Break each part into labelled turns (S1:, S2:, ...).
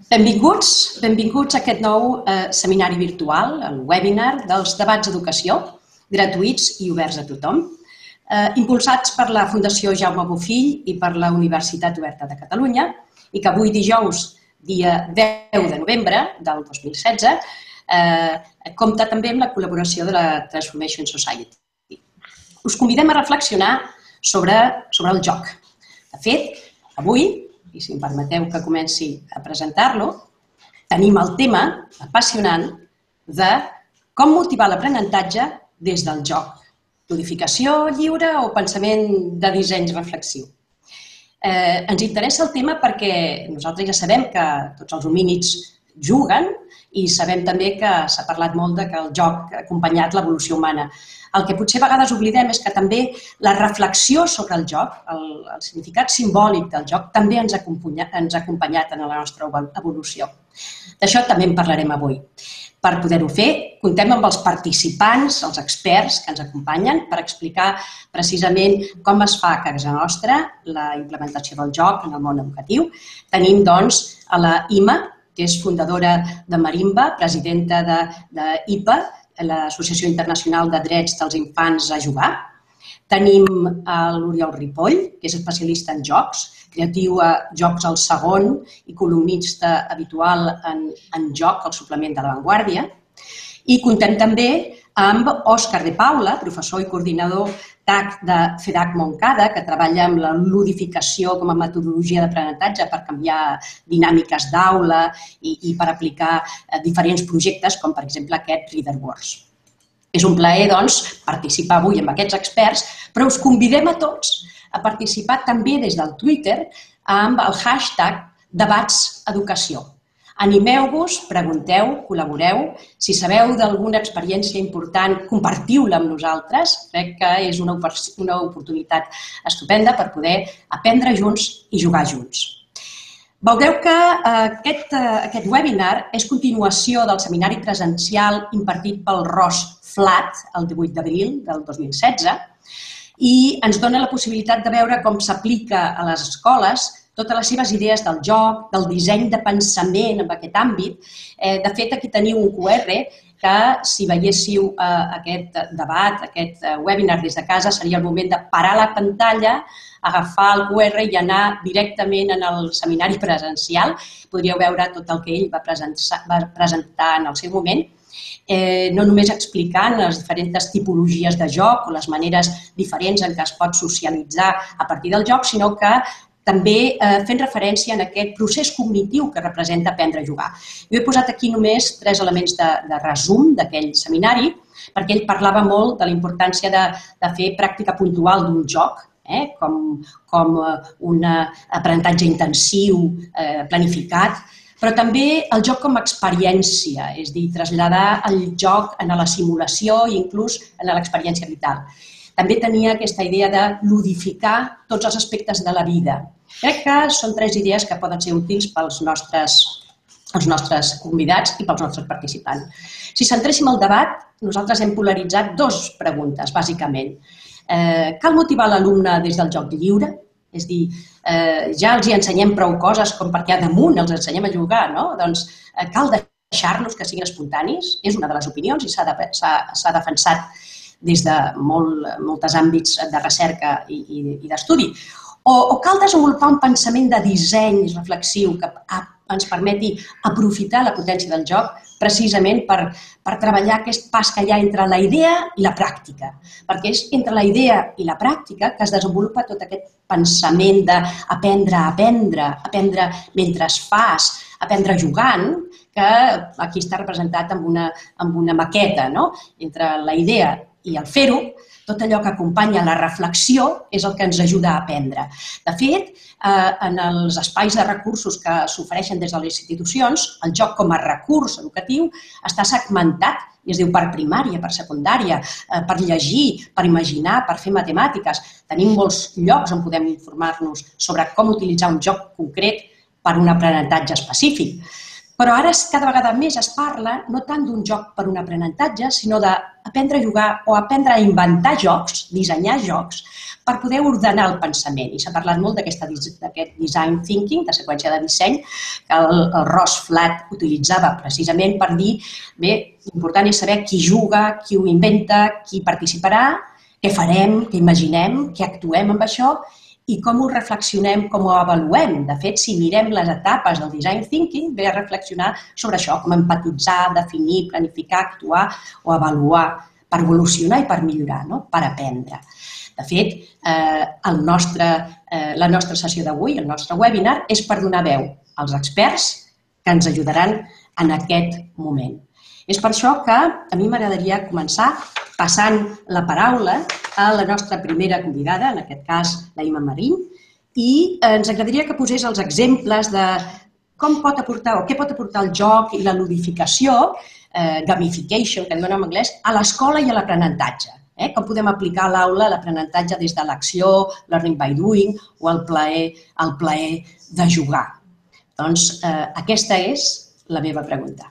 S1: Benvinguts a aquest nou seminari virtual, el webinar dels debats d'educació, gratuïts i oberts a tothom, impulsats per la Fundació Jaume Bofill i per la Universitat Oberta de Catalunya, i que avui dijous, dia 10 de novembre del 2016, compta també amb la col·laboració de la Transformation Society. Us convidem a reflexionar sobre el joc. De fet, avui, i si em permeteu que comenci a presentar-lo, tenim el tema apassionant de com motivar l'aprenentatge des del joc. Codificació lliure o pensament de disseny reflexiu. Ens interessa el tema perquè nosaltres ja sabem que tots els homínids juguen i sabem també que s'ha parlat molt que el joc ha acompanyat l'evolució humana. El que potser a vegades oblidem és que també la reflexió sobre el joc, el significat simbòlic del joc, també ens ha acompanyat en la nostra evolució. D'això també en parlarem avui. Per poder-ho fer, comptem amb els participants, els experts que ens acompanyen per explicar precisament com es fa a casa nostra la implementació del joc en el món educatiu. Tenim, doncs, a la Ima, que és fundadora de Marimba, presidenta d'IPA, l'Associació Internacional de Drets dels Infants a Jugar. Tenim l'Oriol Ripoll, que és especialista en jocs, creatiu a Jocs al Segon i columnista habitual en joc, al suplement de La Vanguardia. I comptem també amb Òscar de Paula, professor i coordinador TAC de FEDAC Montcada, que treballa amb la ludificació com a metodologia d'aprenentatge per canviar dinàmiques d'aula i per aplicar diferents projectes, com per exemple aquest Reader Wars. És un plaer, doncs, participar avui amb aquests experts, però us convidem a tots a participar també des del Twitter amb el hashtag debatseducació. Animeu-vos, pregunteu, col·laboreu. Si sabeu d'alguna experiència important, compartiu-la amb nosaltres. Crec que és una oportunitat estupenda per poder aprendre junts i jugar junts. Veureu que aquest webinar és continuació del seminari presencial impartit pel Ros Flat el 18 d'abril del 2016 i ens dona la possibilitat de veure com s'aplica a les escoles totes les seves idees del joc, del disseny de pensament en aquest àmbit. De fet, aquí teniu un QR que, si veiéssiu aquest debat, aquest webinar des de casa, seria el moment de parar la pantalla, agafar el QR i anar directament en el seminari presencial. Podríeu veure tot el que ell va presentar en el seu moment, no només explicant les diferents tipologies de joc o les maneres diferents en què es pot socialitzar a partir del joc, sinó que també fent referència a aquest procés cognitiu que representa aprendre a jugar. Jo he posat aquí només 3 elements de resum d'aquell seminari, perquè ell parlava molt de la importància de fer pràctica puntual d'un joc, com un aprenentatge intensiu, planificat, però també el joc com a experiència, és a dir, traslladar el joc a la simulació i inclús a l'experiència vital. També tenia aquesta idea de ludificar tots els aspectes de la vida. Crec que són 3 idees que poden ser útils pels nostres convidats i pels nostres participants. Si centréssim el debat, nosaltres hem polaritzat 2 preguntes, bàsicament. Cal motivar l'alumne des del joc lliure? És a dir, ja els ensenyem prou coses com perquè a damunt els ensenyem a jugar, no? Doncs cal deixar-los que siguin espontanis? És una de les opinions i s'ha defensat des de molts àmbits de recerca i d'estudi. O cal desenvolupar un pensament de disseny reflexiu que ens permeti aprofitar la potència del joc precisament per treballar aquest pas que hi ha entre la idea i la pràctica. Perquè és entre la idea i la pràctica que es desenvolupa tot aquest pensament d'aprendre a aprendre, aprendre mentre fas, aprendre jugant, que aquí està representat amb una maqueta, no? Entre la idea i el fer-ho, tot allò que acompanya la reflexió és el que ens ajuda a aprendre. De fet, en els espais de recursos que s'ofereixen des de les institucions, el joc com a recurs educatiu està segmentat, i es diu per primària, per secundària, per llegir, per imaginar, per fer matemàtiques. Tenim molts llocs on podem informar-nos sobre com utilitzar un joc concret per un aprenentatge específic. Però ara cada vegada més es parla no tant d'un joc per un aprenentatge, sinó d'aprendre a jugar o aprendre a inventar jocs, dissenyar jocs, per poder ordenar el pensament. I s'ha parlat molt d'aquest design thinking, de seqüència de disseny, que el Ross Flatt utilitzava precisament per dir, bé, l'important és saber qui juga, qui ho inventa, qui participarà, què farem, què imaginem, què actuem amb això i com ho reflexionem, com ho avaluem. De fet, si mirem les etapes del design thinking, ve a reflexionar sobre això, com empatitzar, definir, planificar, actuar o avaluar per evolucionar i per millorar, per aprendre. De fet, la nostra sessió d'avui, el nostre webinar, és per donar veu als experts que ens ajudaran en aquest moment. És per això que a mi m'agradaria començar passant la paraula a la nostra primera convidada, en aquest cas la Imma Marín, i ens agradaria que posés els exemples de com pot aportar o què pot aportar el joc i la ludificació, gamification, que diuen en anglès, a l'escola i a l'aprenentatge. Com podem aplicar a l'aula l'aprenentatge des de l'acció, learning by doing o el plaer de jugar. Doncs aquesta és la meva pregunta.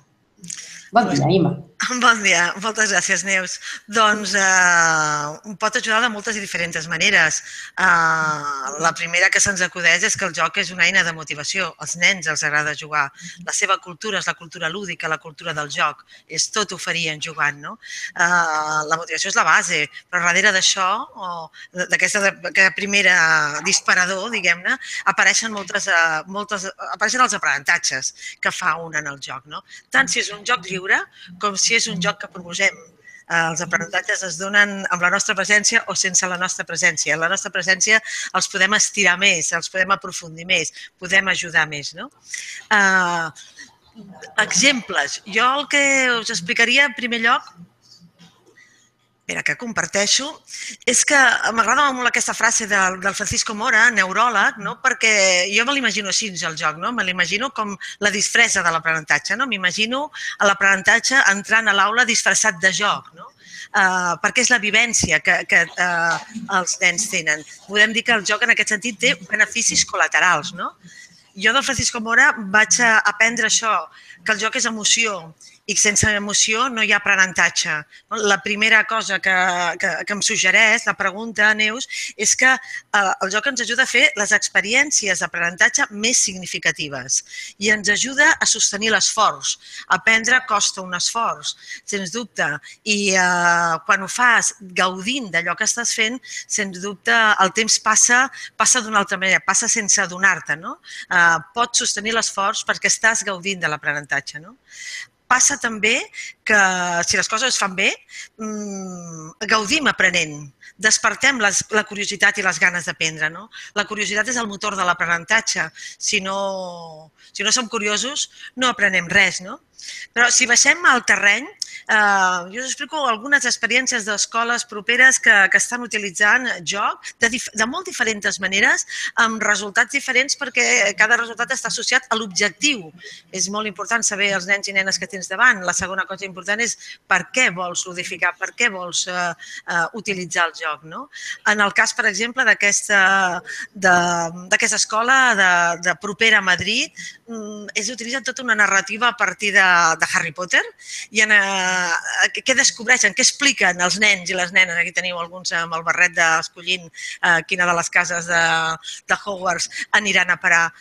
S1: Bon dia, Imma.
S2: Bon dia, moltes gràcies, Neus. Doncs pot ajudar de moltes i diferents maneres. La primera que se'ns acudeix és que el joc és una eina de motivació. Als nens els agrada jugar. La seva cultura és la cultura lúdica, la cultura del joc. És tot oferien jugant, no? La motivació és la base, però darrere d'això, d'aquest primera disparador, diguem-ne, apareixen els aprenentatges que fa un en el joc, no? Tant si és un joc lliure com si és un joc que proposem. Els aprenentatges es donen amb la nostra presència o sense la nostra presència. La nostra presència els podem estirar més, els podem aprofundir més, podem ajudar més. Exemples. Jo el que us explicaria en primer lloc, que comparteixo, és que m'agrada molt aquesta frase del Francisco Mora, neuròleg, perquè jo me l'imagino així, el joc, me l'imagino com la disfressa de l'aprenentatge. M'imagino l'aprenentatge entrant a l'aula disfressat de joc, perquè és la vivència que els nens tenen. Podem dir que el joc en aquest sentit té beneficis col·laterals. Jo del Francisco Mora vaig aprendre això, que el joc és emoció, i sense emoció no hi ha aprenentatge. La primera cosa que em suggereix, la pregunta, Neus, és que el joc ens ajuda a fer les experiències d'aprenentatge més significatives i ens ajuda a sostenir l'esforç. Aprendre costa un esforç, sens dubte, i quan ho fas gaudint d'allò que estàs fent, sens dubte el temps passa d'una altra manera, passa sense adonar-te. Pots sostenir l'esforç perquè estàs gaudint de l'aprenentatge. Passa també que, si les coses es fan bé, gaudim aprenent, despertem la curiositat i les ganes d'aprendre. La curiositat és el motor de l'aprenentatge. Si no som curiosos, no aprenem res. Però si baixem al terreny, jo us explico algunes experiències d'escoles properes que estan utilitzant joc de molt diferents maneres, amb resultats diferents, perquè cada resultat està associat a l'objectiu. És molt important saber els nens i nenes que tens davant. La segona cosa important és per què vols ludificar, per què vols utilitzar el joc. En el cas, per exemple, d'aquesta escola de propera a Madrid, és utilitzat tota una narrativa a partir de Harry Potter i què descobreixen, què expliquen els nens i les nenes. Aquí teniu alguns amb el barret escollint quina de les cases de Hogwarts aniran a parar.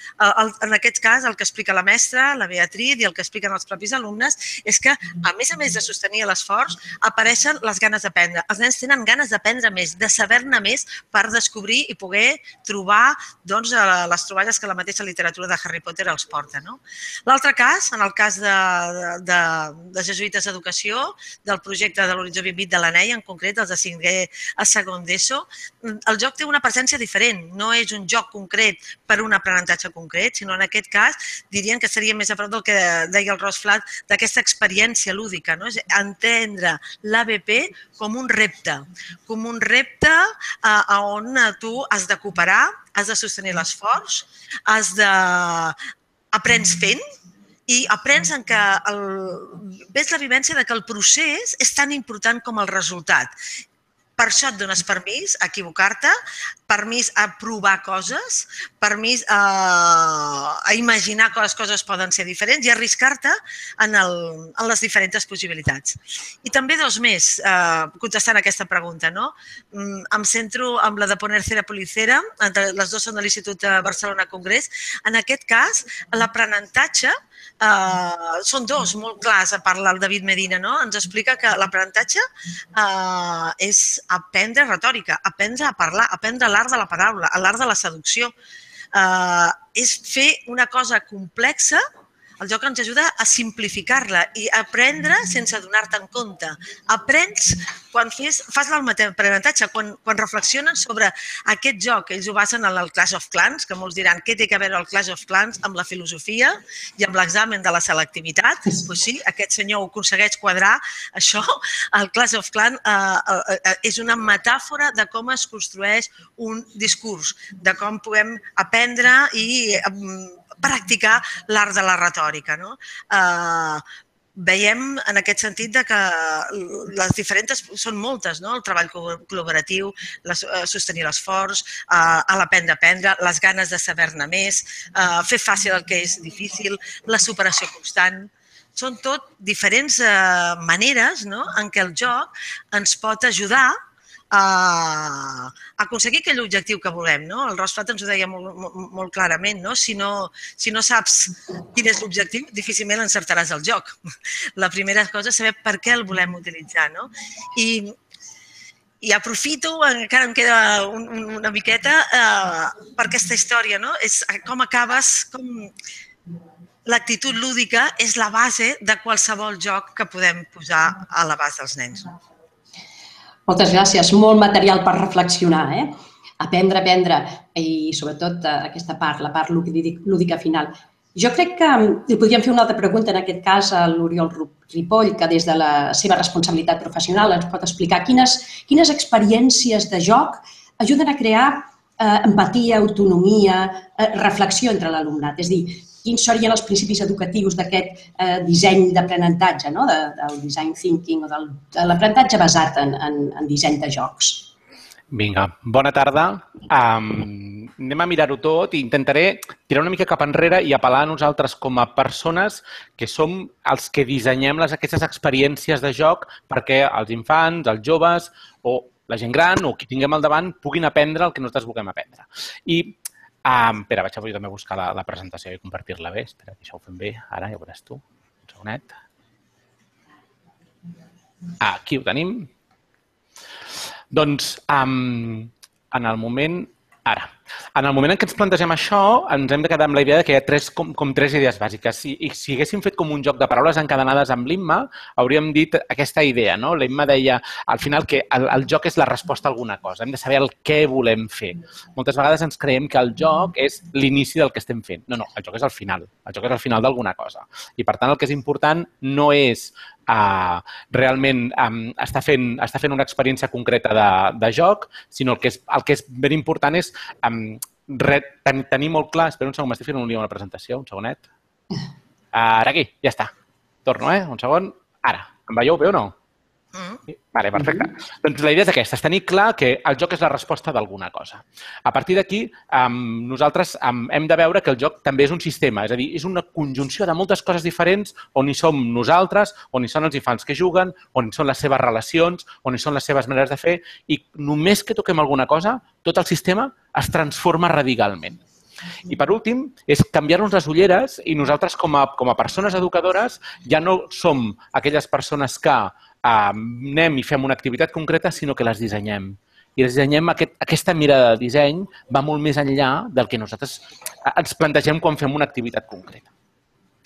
S2: En aquest cas, el que explica la mestra, la Beatriz, i el que expliquen els propis alumnes és que, a més de sostenir l'esforç, apareixen les ganes d'aprendre. Els nens tenen ganes d'aprendre més, de saber-ne més per descobrir i poder trobar les troballes que la mateixa literatura de Harry Potter els porta. L'altre cas, en el cas de Jesuïtes d'Educació, del projecte de l'Horitzó 2020 de l'ANEI, en concret, els de 5è a segon d'ESO, el joc té una presència diferent. No és un joc concret per un aprenentatge concret, sinó en aquest cas dirien que seria més a prop del que deia el Ross Flatt, d'aquesta experiència lúdica. És entendre l'ABP com un repte on tu has de cooperar, has de sostenir l'esforç, aprens fent i aprens en que ves la vivència que el procés és tan important com el resultat. Per això et dones permís a equivocar-te, permís a provar coses, permís a imaginar que les coses poden ser diferents i arriscar-te en les diferents possibilitats. I també dos més, contestant a aquesta pregunta, no? Em centro en la de Ponercera Policera, les dues són de l'Institut de Barcelona Congrés. En aquest cas, l'aprenentatge són dos molt clars, a part del David Medina, no? Ens explica que l'aprenentatge és aprendre retòrica, aprendre a parlar, aprendre l'art de la paraula, l'art de la seducció. És fer una cosa complexa. El joc ens ajuda a simplificar-la i a aprendre sense donar-te en compte. Aprens quan fas l'aprenentatge, quan reflexionen sobre aquest joc. Ells ho basen en el Clash of Clans, que molts diran què té a veure el Clash of Clans amb la filosofia i amb l'examen de la selectivitat. Doncs sí, aquest senyor ho aconsegueix quadrar. Això, el Clash of Clans, és una metàfora de com es construeix un discurs, de com podem aprendre i practicar l'art de la retòrica. Veiem en aquest sentit que les diferents són moltes, el treball col·laboratiu, sostenir l'esforç, l'aprendre a aprendre, les ganes de saber-ne més, fer fàcil el que és difícil, la superació constant. Són tot diferents maneres en què el joc ens pot ajudar a aconseguir aquell objectiu que volem. El Rosflat ens ho deia molt clarament. Si no saps quin és l'objectiu, difícilment encertaràs el joc. La primera cosa és saber per què el volem utilitzar. I aprofito, encara em queda una miqueta, per aquesta història. És com acabes, com l'actitud lúdica és la base de qualsevol joc que podem posar a l'abast dels nens.
S1: Moltes gràcies. Molt material per reflexionar. Aprendre, i sobretot aquesta part, la part lúdica final. Jo crec que li podríem fer una altra pregunta, en aquest cas a l'Oriol Ripoll, que des de la seva responsabilitat professional ens pot explicar quines experiències de joc ajuden a crear empatia, autonomia, reflexió entre l'alumnat. És a dir, quins serien els principis educatius d'aquest disseny d'aprenentatge, del design thinking o de l'aprenentatge basat en disseny de jocs.
S3: Vinga, bona tarda. Anem a mirar-ho tot i intentaré tirar una mica cap enrere i apel·lar a nosaltres com a persones que som els que dissenyem aquestes experiències de joc perquè els infants, els joves o la gent gran o qui tinguem al davant puguin aprendre el que nosaltres vulguem aprendre. Espera, vaig a jo també buscar la presentació i compartir-la bé. Espera, que això ho fem bé. Ara ja ho veuràs tu. Un segonet. Aquí ho tenim. Doncs, en el moment en què ens plantegem això, ens hem de quedar amb la idea que hi ha tres idees bàsiques. Si haguéssim fet com un joc de paraules encadenades amb l'Imma, hauríem dit aquesta idea. L'Imma deia, al final, que el joc és la resposta a alguna cosa. Hem de saber el què volem fer. Moltes vegades ens creiem que el joc és l'inici del que estem fent. No, el joc és el final. El joc és el final d'alguna cosa. I, per tant, el que és important no és realment està fent una experiència concreta de joc, sinó el que és ben important és tenir molt clar... Espera un segon, m'estic fent un lío amb la presentació, un segonet. Ara aquí, ja està. Torno, un segon. Ara, em veieu bé o no? Vale, perfecte. Doncs la idea és aquesta, és tenir clar que el joc és la resposta d'alguna cosa. A partir d'aquí, nosaltres hem de veure que el joc també és un sistema, és a dir, és una conjunció de moltes coses diferents on hi som nosaltres, on hi són els infants que juguen, on hi són les seves relacions, on hi són les seves maneres de fer, i només que toquem alguna cosa, tot el sistema es transforma radicalment. I, per últim, és canviar-nos les ulleres i nosaltres, com a persones educadores, ja no som aquelles persones que anem i fem una activitat concreta, sinó que les dissenyem. I les dissenyem, aquesta mirada de disseny va molt més enllà del que nosaltres ens plantegem quan fem una activitat concreta.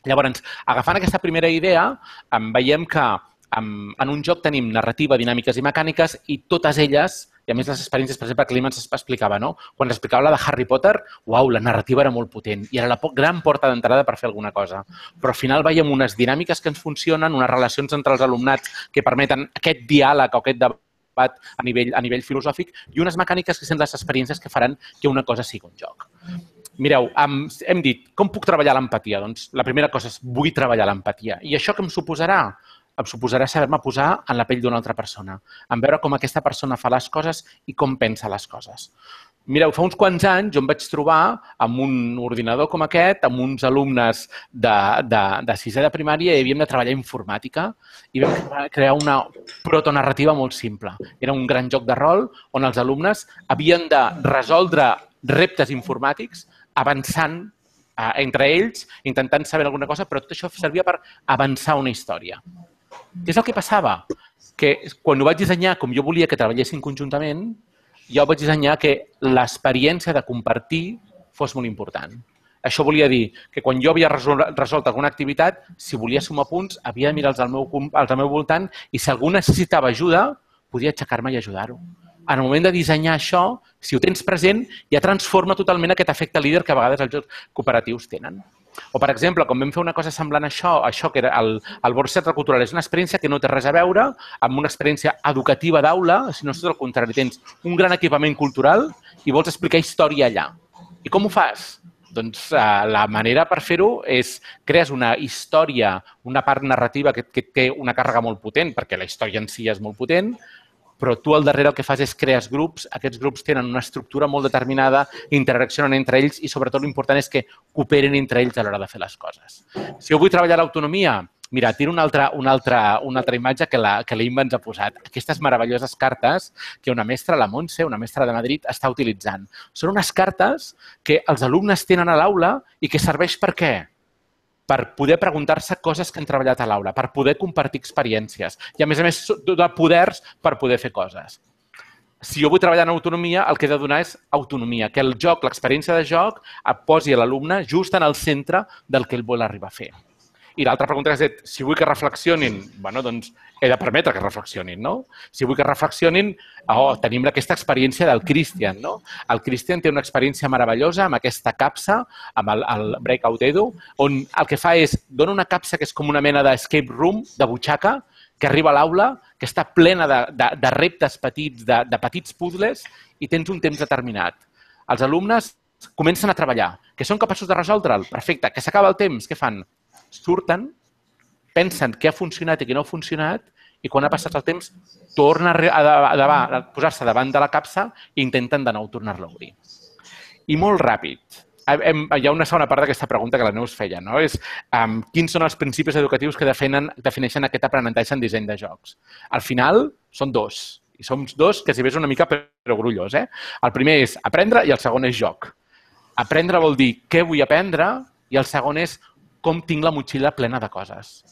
S3: Llavors, agafant aquesta primera idea, veiem que en un joc tenim narrativa, dinàmiques i mecàniques i totes elles, i a més les experiències, per exemple, que l'Imma ens explicava, quan explicava la de Harry Potter, uau, la narrativa era molt potent i era la gran porta d'entrada per fer alguna cosa. Però al final veiem unes dinàmiques que ens funcionen, unes relacions entre els alumnats que permeten aquest diàleg o aquest debat a nivell filosòfic i unes mecàniques que són les experiències que faran que una cosa sigui un joc. Mireu, hem dit, com puc treballar l'empatia? Doncs la primera cosa és, vull treballar l'empatia. I això què em suposarà? em suposarà saber-me posar en la pell d'una altra persona, en veure com aquesta persona fa les coses i com pensa les coses. Mireu, fa uns quants anys jo em vaig trobar amb un ordinador com aquest, amb uns alumnes de sisè de primària i havíem de treballar informàtica i vam crear una protonarrativa molt simple. Era un gran joc de rol on els alumnes havien de resoldre reptes informàtics avançant entre ells, intentant saber alguna cosa, però tot això servia per avançar una història. Què és el que passava? Que quan ho vaig dissenyar com jo volia que treballessin conjuntament, jo vaig dissenyar que l'experiència de compartir fos molt important. Això volia dir que quan jo havia resolt alguna activitat, si volia sumar punts, havia de mirar als al meu voltant i si algú necessitava ajuda, podia aixecar-me i ajudar-ho. En el moment de dissenyar això, si ho tens present, ja transforma totalment aquest efecte líder que a vegades els jocs cooperatius tenen. O, per exemple, quan vam fer una cosa semblant a això que era el Board Centre Cultural, és una experiència que no té res a veure amb una experiència educativa d'aula, sinó tot el contrari. Tens un gran equipament cultural i vols explicar història allà. I com ho fas? Doncs la manera per fer-ho és crees una història, una part narrativa que té una càrrega molt potent, perquè la història en si és molt potent, però tu al darrere el que fas és crees grups, aquests grups tenen una estructura molt determinada, interaccionen entre ells i sobretot l'important és que cooperen entre ells a l'hora de fer les coses. Si jo vull treballar l'autonomia, mira, tiro una altra imatge que l'Imma ens ha posat. Aquestes meravelloses cartes que una mestra, la Montse, una mestra de Madrid, està utilitzant. Són unes cartes que els alumnes tenen a l'aula i que serveix per què? Per poder preguntar-se coses que han treballat a l'aula, per poder compartir experiències i, a més, donar poders per poder fer coses. Si jo vull treballar en autonomia, el que he de donar és autonomia, que el joc, l'experiència de joc, posi l'alumne just en el centre del que ell vol arribar a fer. I l'altra pregunta és, si vull que reflexionin, doncs he de permetre que reflexionin, no? Si vull que reflexionin, tenim aquesta experiència del Christian, no? El Christian té una experiència meravellosa amb aquesta capsa, amb el Breakout Edu, on el que fa és, dona una capsa que és com una mena d'escape room, de butxaca, que arriba a l'aula, que està plena de reptes petits, de petits puzzles, i tens un temps determinat. Els alumnes comencen a treballar, que són capaços de resoldre'l. Perfecte, que s'acaba el temps, què fan? Surten, pensen què ha funcionat i què no ha funcionat i quan ha passat el temps tornen a posar-se davant de la capsa i intenten de nou tornar-la a obrir. I molt ràpid. Hi ha una segona part d'aquesta pregunta que la Neus feia, no? És quins són els principis educatius que defineixen aquest aprenentatge en disseny de jocs. Al final són dos. I som dos que si ves una mica perogrullos. El primer és aprendre i el segon és joc. Aprendre vol dir què vull aprendre i el segon és com tinc la motxilla plena de coses.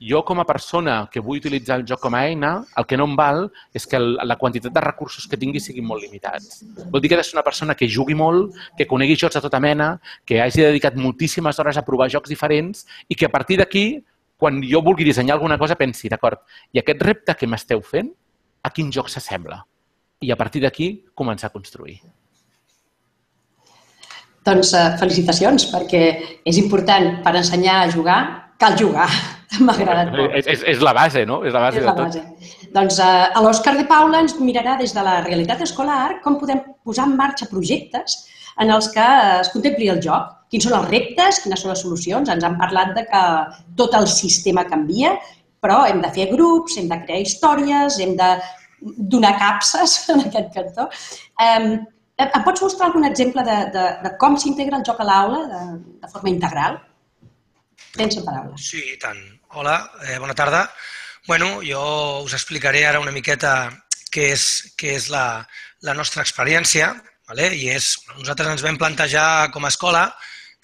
S3: Jo, com a persona que vull utilitzar el joc com a eina, el que no em val és que la quantitat de recursos que tingui siguin molt limitats. Vol dir que he de ser una persona que jugui molt, que conegui jocs de tota mena, que hagi dedicat moltíssimes hores a provar jocs diferents i que a partir d'aquí, quan jo vulgui dissenyar alguna cosa, pensi, d'acord, i aquest repte que m'esteu fent, a quin joc s'assembla? I a partir d'aquí, començar a construir.
S1: Doncs felicitacions, perquè és important per ensenyar a jugar, cal jugar. M'ha agradat molt.
S3: És la base, no? És la base de tot.
S1: Doncs l'Òscar de Paula ens mirarà des de la realitat escolar com podem posar en marxa projectes en els que es contempli el joc. Quins són els reptes, quines són les solucions. Ens han parlat de que tot el sistema canvia, però hem de fer grups, hem de crear històries, hem de donar capses en aquest cantó. Em pots mostrar algun exemple de com s'integra el joc a l'aula de forma integral? Tens la paraula.
S4: Sí, i tant. Hola, bona tarda. Bueno, jo us explicaré ara una miqueta què és la nostra experiència. I nosaltres ens vam plantejar com a escola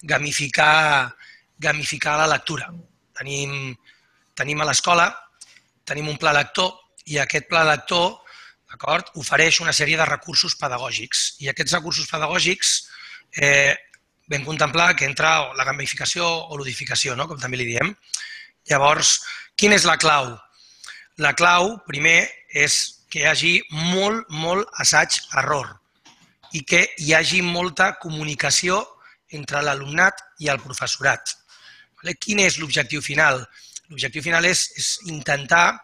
S4: gamificar la lectura. Tenim a l'escola, tenim un pla lector i aquest pla lector ofereix una sèrie de recursos pedagògics. I aquests recursos pedagògics vam contemplar que entra la gamificació o ludificació, com també li diem. Llavors, quina és la clau? La clau, primer, és que hi hagi molt assaig-error i que hi hagi molta comunicació entre l'alumnat i el professorat. Quin és l'objectiu final? L'objectiu final és intentar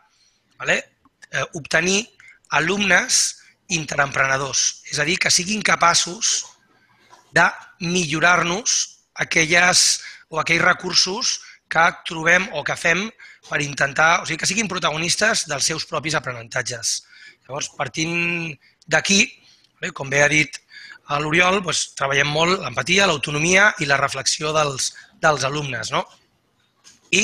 S4: obtenir alumnes interemprenedors, és a dir, que siguin capaços de millorar-nos aquells recursos que trobem o que fem per intentar, o sigui, que siguin protagonistes dels seus propis aprenentatges. Llavors, partint d'aquí, com bé ha dit l'Oriol, treballem molt l'empatia, l'autonomia i la reflexió dels alumnes. I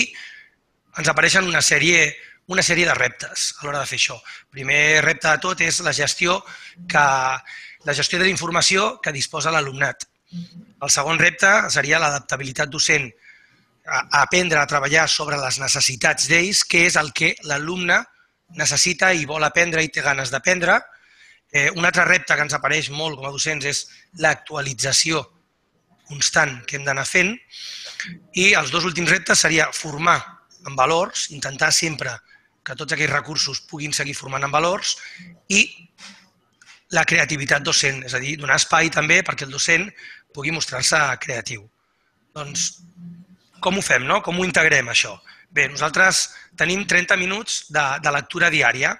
S4: ens apareixen una sèrie de reptes a l'hora de fer això. El primer repte de tot és la gestió de la informació que disposa l'alumnat. El segon repte seria l'adaptabilitat docent, aprendre a treballar sobre les necessitats d'ells, què és el que l'alumne necessita i vol aprendre i té ganes d'aprendre. Un altre repte que ens apareix molt com a docents és l'actualització constant que hem d'anar fent. I els dos últims reptes seria formar en valors, intentar sempre que tots aquells recursos puguin seguir formant en valors, i la creativitat docent, és a dir, donar espai també perquè el docent pugui mostrar-se creatiu. Doncs, com ho fem, com ho integrem, això? Bé, nosaltres tenim 30 minuts de lectura diària.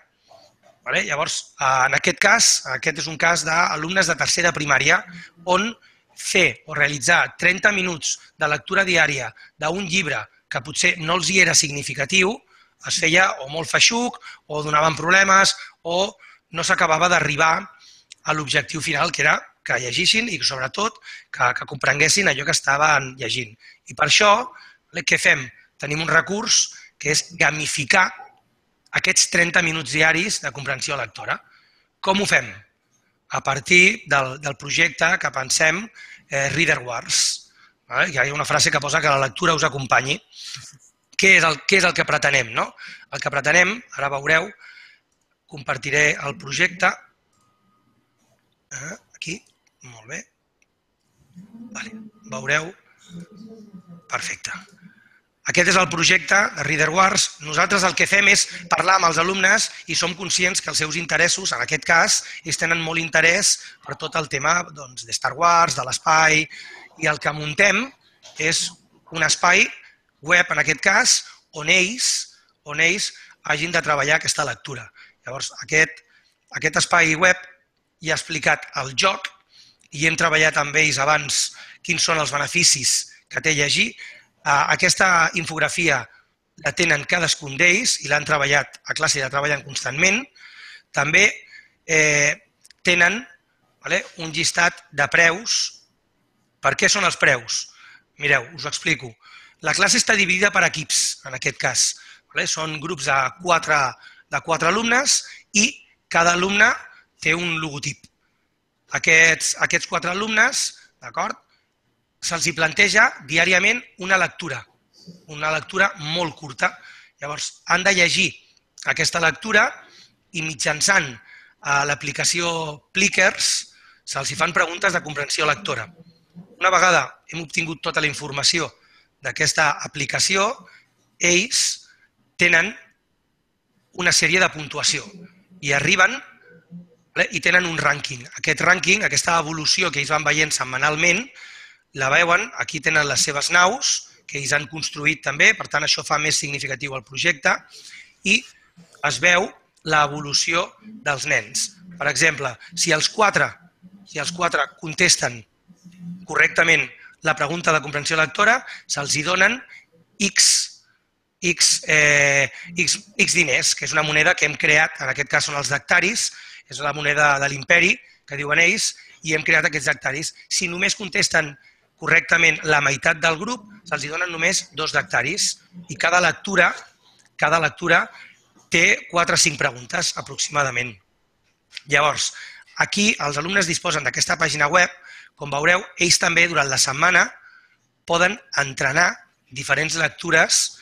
S4: Llavors, en aquest cas, aquest és un cas d'alumnes de tercera primària, on fer o realitzar 30 minuts de lectura diària d'un llibre que potser no els hi era significatiu, es feia o molt feixuc, o donaven problemes, o no s'acabava d'arribar a l'objectiu final, que era que llegissin i, sobretot, que comprenguessin allò que estaven llegint. I per això, què fem? Tenim un recurs que és gamificar aquests 30 minuts diaris de comprensió lectora. Com ho fem? A partir del projecte que pensem Reader Wars. Hi ha una frase que posa que la lectura us acompanyi. Què és el que pretenem? El que pretenem, ara veureu, compartiré el projecte. Aquí, molt bé. Veureu. Perfecte. Aquest és el projecte de Reader Wars. Nosaltres el que fem és parlar amb els alumnes i som conscients que els seus interessos, en aquest cas, ells tenen molt interès per tot el tema de Star Wars, de l'espai, i el que muntem és un espai web, en aquest cas, on ells hagin de treballar aquesta lectura. Llavors, aquest espai web ja ha explicat el joc i hem treballat amb ells abans quins són els beneficis que té llegir. Aquesta infografia la tenen cadascun d'ells i l'han treballat a classe i la treballen constantment. També tenen un llistat de preus. Per què són els preus? Mireu, us ho explico. La classe està dividida per equips, en aquest cas. Són grups de 4 alumnes i cada alumne té un logotip. Aquests 4 alumnes, d'acord, se'ls planteja diàriament una lectura molt curta. Llavors, han de llegir aquesta lectura i mitjançant l'aplicació Plickers se'ls fan preguntes de comprensió lectora. Una vegada hem obtingut tota la informació d'aquesta aplicació, ells tenen una sèrie de puntuació i arriben i tenen un rànquing. Aquest rànquing, aquesta evolució que ells van veient setmanalment, la veuen, aquí tenen les seves naus, que ells han construït també, per tant això fa més significatiu el projecte, i es veu l'evolució dels nens. Per exemple, si els 4 contesten correctament la pregunta de comprensió lectora, se'ls donen X diners, que és una moneda que hem creat, en aquest cas són els dactaris, és la moneda de l'imperi, que diuen ells, i hem creat aquests dactaris. Si només contesten correctament la meitat del grup, se'ls donen només 2 dactaris i cada lectura té 4 o 5 preguntes aproximadament. Llavors, aquí els alumnes disposen d'aquesta pàgina web. Com veureu, ells també durant la setmana poden entrenar diferents lectures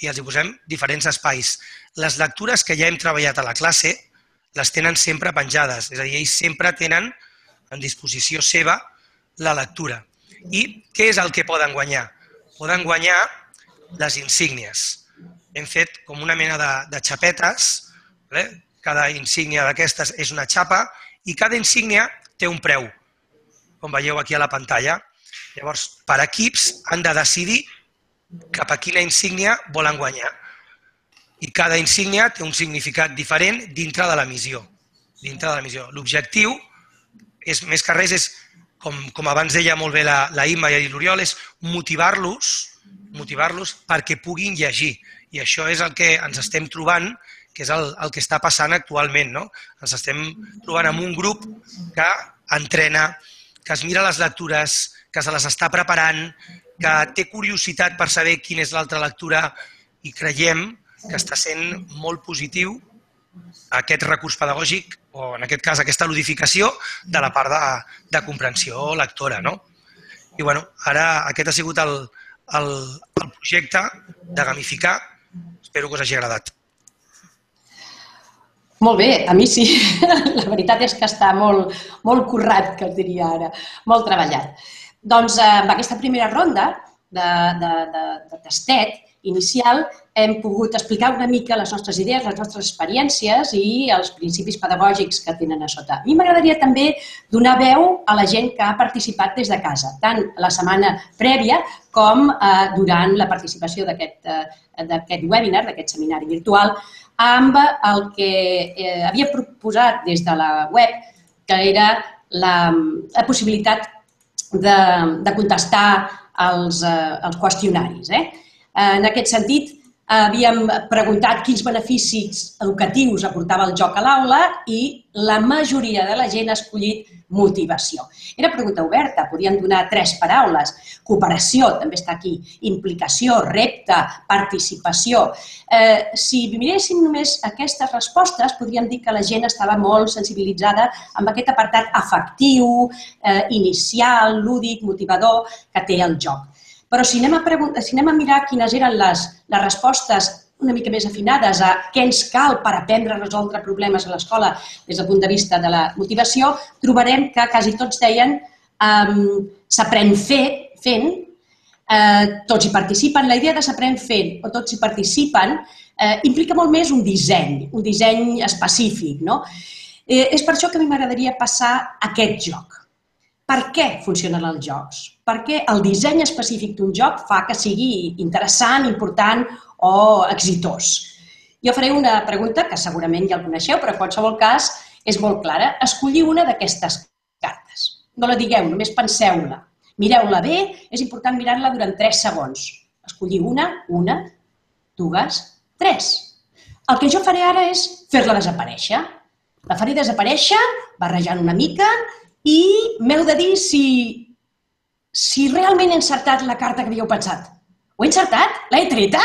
S4: i els hi posem diferents espais. Les lectures que ja hem treballat a la classe les tenen sempre penjades, és a dir, ells sempre tenen en disposició seva la lectura. I què és el que poden guanyar? Poden guanyar les insígnies. Hem fet com una mena de xapetes, cada insígnia d'aquestes és una xapa i cada insígnia té un preu, com veieu aquí a la pantalla. Llavors, per equips han de decidir cap a quina insígnia volen guanyar. I cada insígnia té un significat diferent dintre de la missió. L'objectiu, més que res, és, com abans deia molt bé la Imma i l'Oriol, és motivar-los motivar-los perquè puguin llegir. I això és el que ens estem trobant, que és el que està passant actualment. Ens estem trobant amb un grup que entrena, que es mira les lectures, que se les està preparant, que té curiositat per saber quina és l'altra lectura i creiem que està sent molt positiu aquest recurs pedagògic o, en aquest cas, aquesta ludificació de la part de comprensió lectora. I ara aquest ha sigut el projecte de gamificar. Espero que us hagi agradat.
S1: Molt bé, a mi sí. La veritat és que està molt currat, que es diria ara, molt treballat. Doncs amb aquesta primera ronda de tastet inicial hem pogut explicar una mica les nostres idees, les nostres experiències i els principis pedagògics que tenen a sota. A mi m'agradaria també donar veu a la gent que ha participat des de casa, tant la setmana prèvia com durant la participació d'aquest webinar, d'aquest seminari virtual, amb el que havia proposat des de la web, que era la possibilitat de contestar els qüestionaris. En aquest sentit, havíem preguntat quins beneficis educatius aportava el joc a l'aula i la majoria de la gent ha escollit motivació. Era pregunta oberta, podien donar 3 paraules. Cooperació, també està aquí, implicació, repte, participació. Si miréssim només aquestes respostes, podríem dir que la gent estava molt sensibilitzada amb aquest apartat afectiu, inicial, lúdic, motivador que té el joc. Però si anem a mirar quines eren les respostes una mica més afinades a què ens cal per aprendre a resoldre problemes a l'escola des del punt de vista de la motivació, trobarem que quasi tots deien s'aprèn fent, tots hi participen. La idea de s'aprèn fent o tots hi participen implica molt més un disseny específic. És per això que a mi m'agradaria passar a aquest joc. Per què funcionen els jocs? Per què el disseny específic d'un joc fa que sigui interessant, important o exitós? Jo faré una pregunta que segurament ja el coneixeu, però en qualsevol cas és molt clara. Escolliu una d'aquestes cartes. No la digueu, només penseu-la. Mireu-la bé, és important mirar-la durant 3 segons. Escolliu una, 2, 3. El que jo faré ara és fer-la desaparèixer. La faré desaparèixer, barrejant una mica, i m'heu de dir si realment he encertat la carta que havíeu pensat. Ho he encertat? L'he treta?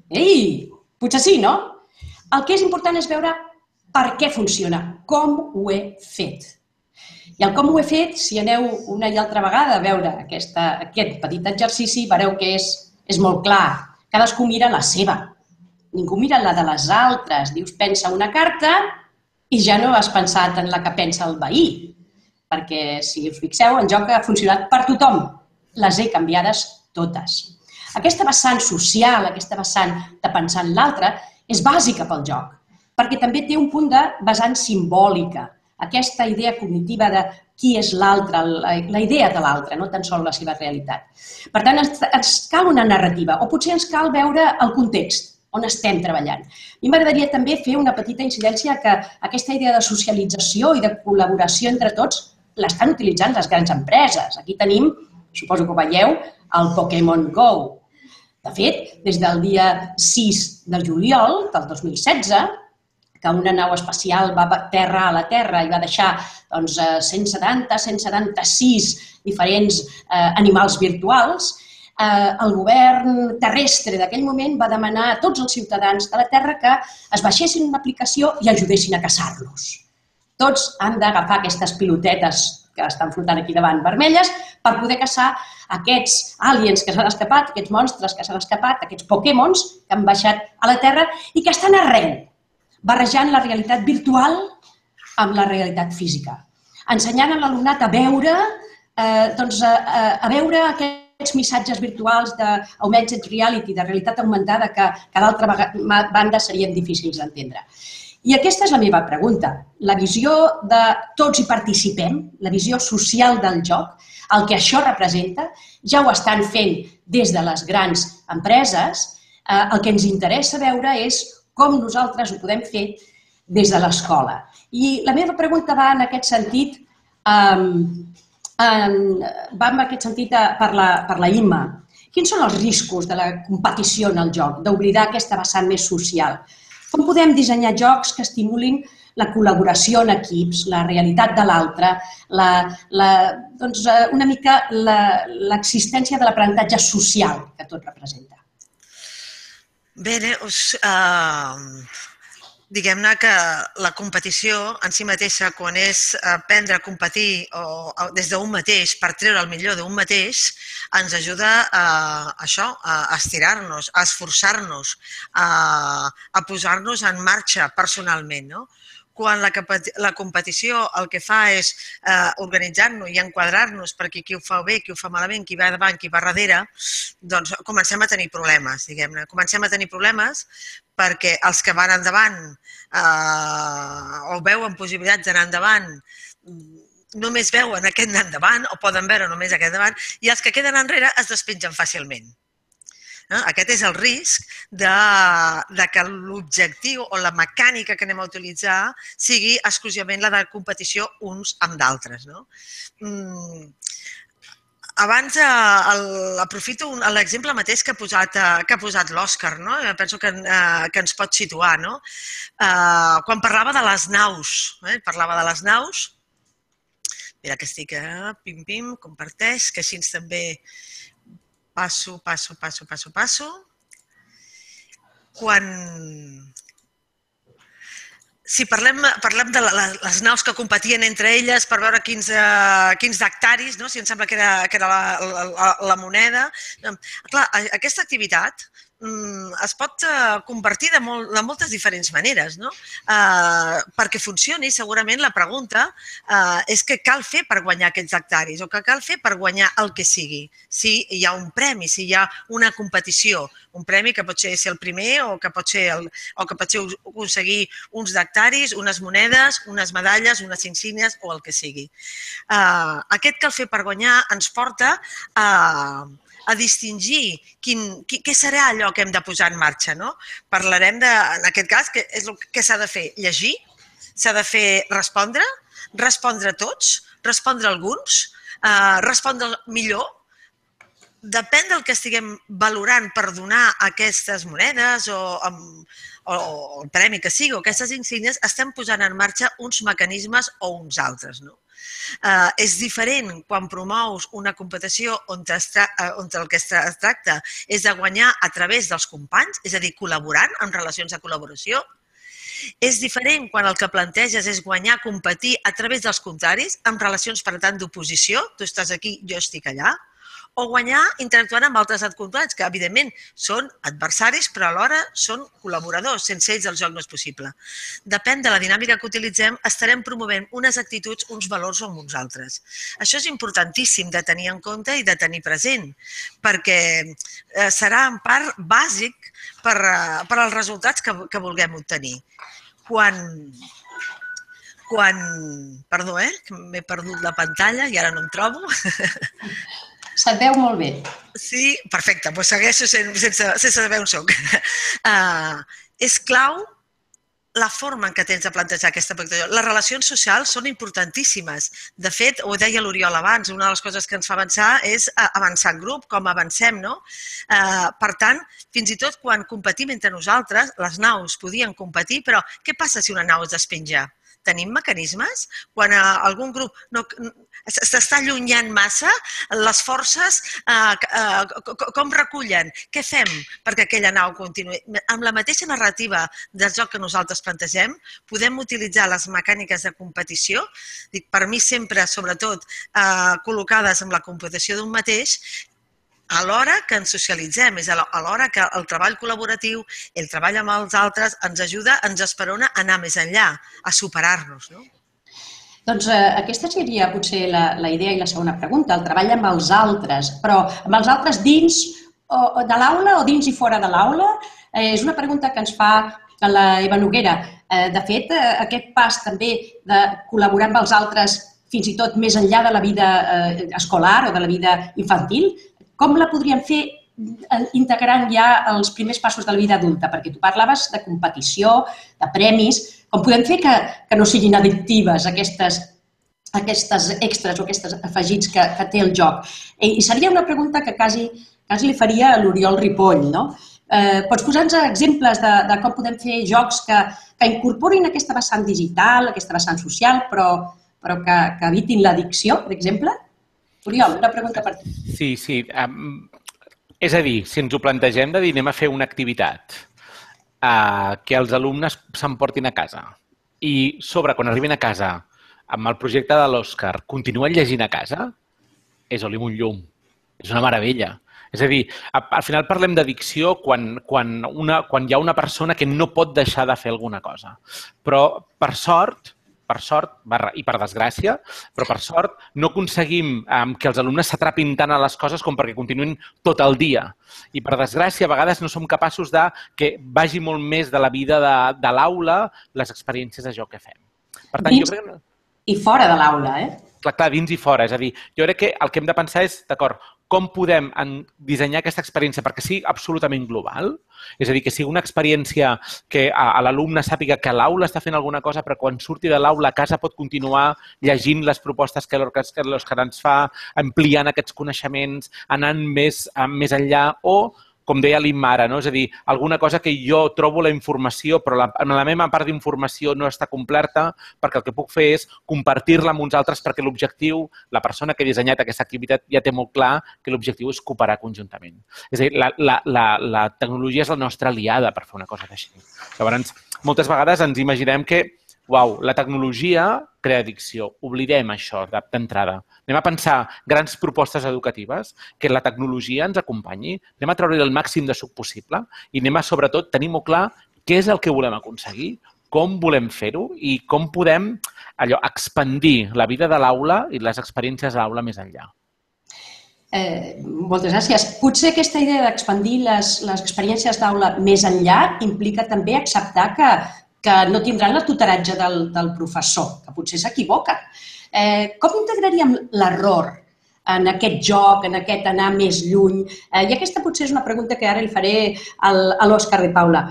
S1: Ei, potser sí, no? El que és important és veure per què funciona, com ho he fet. I el com ho he fet, si aneu una i altra vegada a veure aquest petit exercici, veureu que és molt clar. Cadascú mira la seva. Ningú mira la de les altres. Dius, pensa una carta i ja no has pensat en la que pensa el veí. Perquè, si us fixeu, el joc ha funcionat per tothom. Les he canviades totes. Aquesta vessant social, aquesta vessant de pensar en l'altre, és bàsica pel joc, perquè també té un punt de vessant simbòlica, aquesta idea cognitiva de qui és l'altre, la idea de l'altre, no tan sols la seva realitat. Per tant, ens cal una narrativa, o potser ens cal veure el context on estem treballant. A mi m'agradaria també fer una petita incidència que aquesta idea de socialització i de col·laboració entre tots l'estan utilitzant les grans empreses. Aquí tenim, suposo que ho veieu, el Pokémon Go. De fet, des del dia 6 de juliol del 2016, que una nau espacial va aterrar a la Terra i va deixar 176 diferents animals virtuals, el govern terrestre d'aquell moment va demanar a tots els ciutadans de la Terra que es baixessin una aplicació i ajudessin a caçar-los. Tots han d'agafar aquestes pilotetes que estan flotant aquí davant vermelles per poder caçar aquests aliens que s'han escapat, aquests monstres que s'han escapat, aquests Pokémons que han baixat a la Terra i que estan arreu, barrejant la realitat virtual amb la realitat física. Ensenyant a l'alumnat a veure aquests missatges virtuals d'augmented reality, de realitat augmentada, que d'altra banda serien difícils d'entendre. I aquesta és la meva pregunta. La visió de tots hi participem, la visió social del joc, el que això representa, ja ho estan fent des de les grans empreses. El que ens interessa veure és com nosaltres ho podem fer des de l'escola. I la meva pregunta va en aquest sentit, per la Imma. Quins són els riscos de la competició en el joc, d'oblidar aquesta vessant més social? Com podem dissenyar jocs que estimulin la col·laboració en equips, la realitat de l'altre, una mica l'existència de l'aprenentatge social que tot representa?
S2: Bé, diguem-ne que la competició en si mateixa, quan és aprendre a competir des d'un mateix per treure el millor d'un mateix, ens ajuda a això, a estirar-nos, a esforçar-nos, a posar-nos en marxa personalment, no? Quan la competició el que fa és organitzar-nos i enquadrar-nos perquè qui ho fa bé, qui ho fa malament, qui va davant, qui va darrere, doncs comencem a tenir problemes, diguem-ne. Comencem a tenir problemes perquè els que van endavant o veuen possibilitats d'anar endavant només veuen aquest anar endavant o poden veure només aquest endavant i els que queden enrere es despengen fàcilment. Aquest és el risc que l'objectiu o la mecànica que anem a utilitzar sigui exclusivament la de competició uns amb d'altres. Abans aprofito l'exemple mateix que ha posat l'Òscar, penso que ens pot situar. Quan parlava de les naus, mira que estic pim-pim, comparteix, que així també passo. Si parlem de les naus que competien entre elles per veure quins hectaris, si em sembla que era la moneda. Clar, aquesta activitat es pot convertir de moltes diferents maneres. Perquè funcioni, segurament la pregunta és què cal fer per guanyar aquests hectaris o què cal fer per guanyar el que sigui. Si hi ha un premi, si hi ha una competició, un premi que pot ser el primer o que pot ser aconseguir uns hectaris, unes monedes, unes medalles, unes insígnies o el que sigui. Aquest cal fer per guanyar ens porta a distingir què serà allò que hem de posar en marxa. Parlarem, en aquest cas, què s'ha de fer? Llegir, s'ha de fer respondre a tots, respondre a alguns, respondre millor. Depèn del que estiguem valorant per donar aquestes monedes o el premi que sigui o aquestes insígnies, estem posant en marxa uns mecanismes o uns altres. És diferent quan promous una competició on el que es tracta és de guanyar a través dels companys, és a dir, col·laborant en relacions de col·laboració. És diferent quan el que planteges és guanyar, competir a través dels contraris, en relacions, per tant, d'oposició, tu estàs aquí, jo estic allà, o guanyar interactuant amb altres adcontrats, que evidentment són adversaris, però alhora són col·laboradors. Sense ells el joc no és possible. Depèn de la dinàmica que utilitzem, estarem promovent unes actituds, uns valors o uns altres. Això és importantíssim de tenir en compte i de tenir present, perquè serà en part bàsic per als resultats que vulguem obtenir. Perdó, m'he perdut la pantalla i ara no em trobo.
S1: Se't veu molt bé.
S2: Sí, perfecte, doncs segueixo sense saber on soc. És clau la forma en què tens de plantejar aquesta pràctica. Les relacions socials són importantíssimes. De fet, ho deia l'Oriol abans, una de les coses que ens fa avançar és avançar en grup, com avancem, no? Per tant, fins i tot quan competim entre nosaltres, les naus podien competir, però què passa si una nau es despenja? Tenim mecanismes? Quan algun grup s'està allunyant massa, les forces com recullen? Què fem perquè aquella nau continuï? Amb la mateixa narrativa del joc que nosaltres plantegem, podem utilitzar les mecàniques de competició, per mi sempre, sobretot, col·locades en la competició d'un mateix, alhora que ens socialitzem, és alhora que el treball col·laboratiu, el treball amb els altres, ens ajuda, ens esperona a anar més enllà, a superar-nos.
S1: Doncs aquesta seria potser la idea i la segona pregunta, el treball amb els altres, però amb els altres dins de l'aula o dins i fora de l'aula? És una pregunta que ens fa la Eva Noguera. De fet, aquest pas també de col·laborar amb els altres fins i tot més enllà de la vida escolar o de la vida infantil, com la podríem fer integrant ja els primers passos de la vida adulta? Perquè tu parlaves de competició, de premis, com podem fer que no siguin addictives aquestes extras o aquests afegits que té el joc? I seria una pregunta que quasi cas li faria a l'Oriol Ripoll, no? Pots posar-nos exemples de com podem fer jocs que incorporin aquesta vessant digital, aquesta vessant social, però que evitin l'addicció, per exemple? Oriol, una pregunta per tu.
S3: Sí. És a dir, si ens ho plantegem de dir anem a fer una activitat que els alumnes s'emportin a casa i sobre, quan arribin a casa, amb el projecte de l'Òscar, continuen llegint a casa, és oli un llum. És una meravella. És a dir, al final parlem d'addicció quan hi ha una persona que no pot deixar de fer alguna cosa. Però, per sort i per desgràcia, però per sort no aconseguim que els alumnes s'atrapin tant a les coses com perquè continuïn tot el dia. I per desgràcia, a vegades no som capaços de que vagi molt més de la vida de l'aula les experiències de joc que fem. Per tant, jo crec que...
S1: I fora de l'aula,
S3: Clar, dins i fora. És a dir, jo crec que el que hem de pensar és, d'acord, com podem dissenyar aquesta experiència perquè sigui absolutament global? És a dir, que sigui una experiència que l'alumne sàpiga que a l'aula està fent alguna cosa, però quan surti de l'aula a casa pot continuar llegint les propostes que l'Òscar ens fa, ampliant aquests coneixements, anant més enllà o, com deia l'Imma ara, és a dir, alguna cosa que jo trobo la informació, però la meva part d'informació no està completa perquè el que puc fer és compartir-la amb uns altres perquè l'objectiu, la persona que ha dissenyat aquesta activitat ja té molt clar que l'objectiu és cooperar conjuntament. És a dir, la tecnologia és la nostra aliada per fer una cosa d'així. Llavors, moltes vegades ens imaginem que la tecnologia crea addicció. Oblidem això d'entrada. Anem a pensar grans propostes educatives, que la tecnologia ens acompanyi, anem a treure-hi el màxim de suc possible i anem a, sobretot, tenir molt clar què és el que volem aconseguir, com volem fer-ho i com podem expandir la vida de l'aula i les experiències de l'aula més enllà.
S1: Moltes gràcies. Potser aquesta idea d'expandir les experiències d'aula més enllà implica també acceptar que no tindran el tutoratge del professor, que potser s'equivoca. Com integraríem l'error en aquest joc, en aquest anar més lluny? I aquesta potser és una pregunta que ara li faré a l'Òscar de Paula.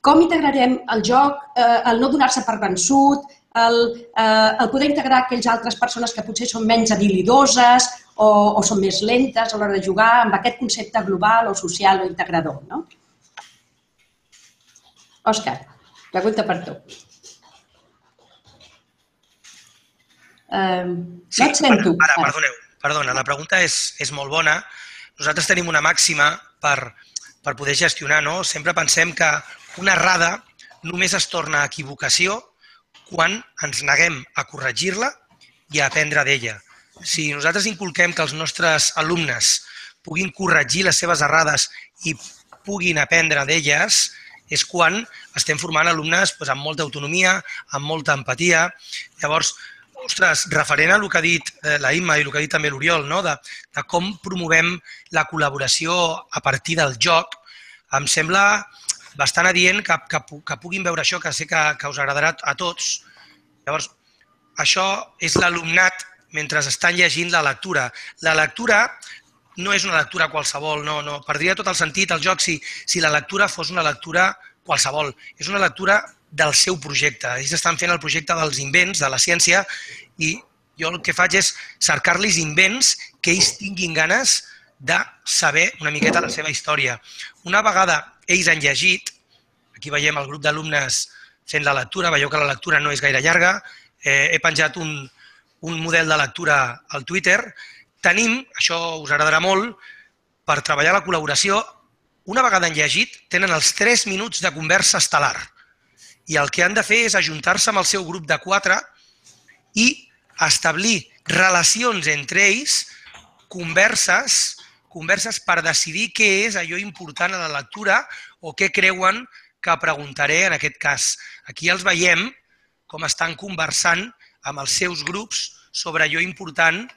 S1: Com integrarem el joc, el no donar-se per vençut, el poder integrar aquelles altres persones que potser són menys habilidoses o són més lentes a l'hora de jugar amb aquest concepte global o social o integrador, no? Òscar, pregunta per tu. No et sento.
S4: Ara, perdona, la pregunta és molt bona. Nosaltres tenim una màxima per poder gestionar, no? Sempre pensem que una errada només es torna equivocació quan ens neguem a corregir-la i a aprendre d'ella. Si nosaltres inculquem que els nostres alumnes puguin corregir les seves errades i puguin aprendre d'elles, és quan estem formant alumnes amb molta autonomia, amb molta empatia. Llavors, ostres, referent a el que ha dit la Imma i el que ha dit també l'Oriol, de com promovem la col·laboració a partir del joc, em sembla bastant adient que puguin veure això, que sé que us agradarà a tots. Llavors, això és l'alumnat mentre estan llegint la lectura. La lectura no és una lectura qualsevol, no. Perdria tot el sentit el joc si la lectura fos una lectura qualsevol. És una lectura del seu projecte. Ells estan fent el projecte dels invents, de la ciència, i jo el que faig és cercar-los invents que ells tinguin ganes de saber una miqueta la seva història. Una vegada ells han llegit, aquí veiem el grup d'alumnes fent la lectura, veieu que la lectura no és gaire llarga, he penjat un model de lectura al Twitter. Tenim, això us agradarà molt, per treballar la col·laboració, una vegada han llegit, tenen els 3 minuts de conversa estel·lar. I el que han de fer és ajuntar-se amb el seu grup de 4 i establir relacions entre ells, converses per decidir què és allò important a la lectura o què creuen que preguntaré en aquest cas. Aquí els veiem com estan conversant amb els seus grups sobre allò important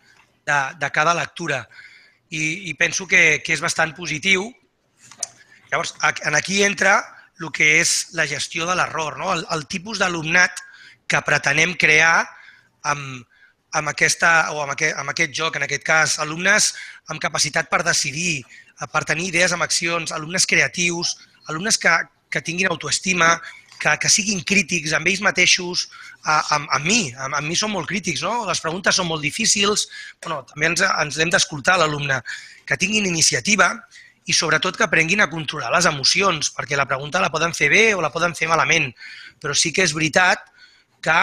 S4: de cada lectura. I penso que és bastant positiu. Llavors, aquí entra el que és la gestió de l'error, el tipus d'alumnat que pretenem crear amb aquest joc, en aquest cas, alumnes amb capacitat per decidir, per tenir idees amb accions, alumnes creatius, alumnes que tinguin autoestima, que siguin crítics amb ells mateixos, amb mi són molt crítics, no? Les preguntes són molt difícils, també ens hem d'escoltar l'alumne, que tinguin iniciativa i sobretot que aprenguin a controlar les emocions, perquè la pregunta la poden fer bé o la poden fer malament, però sí que és veritat que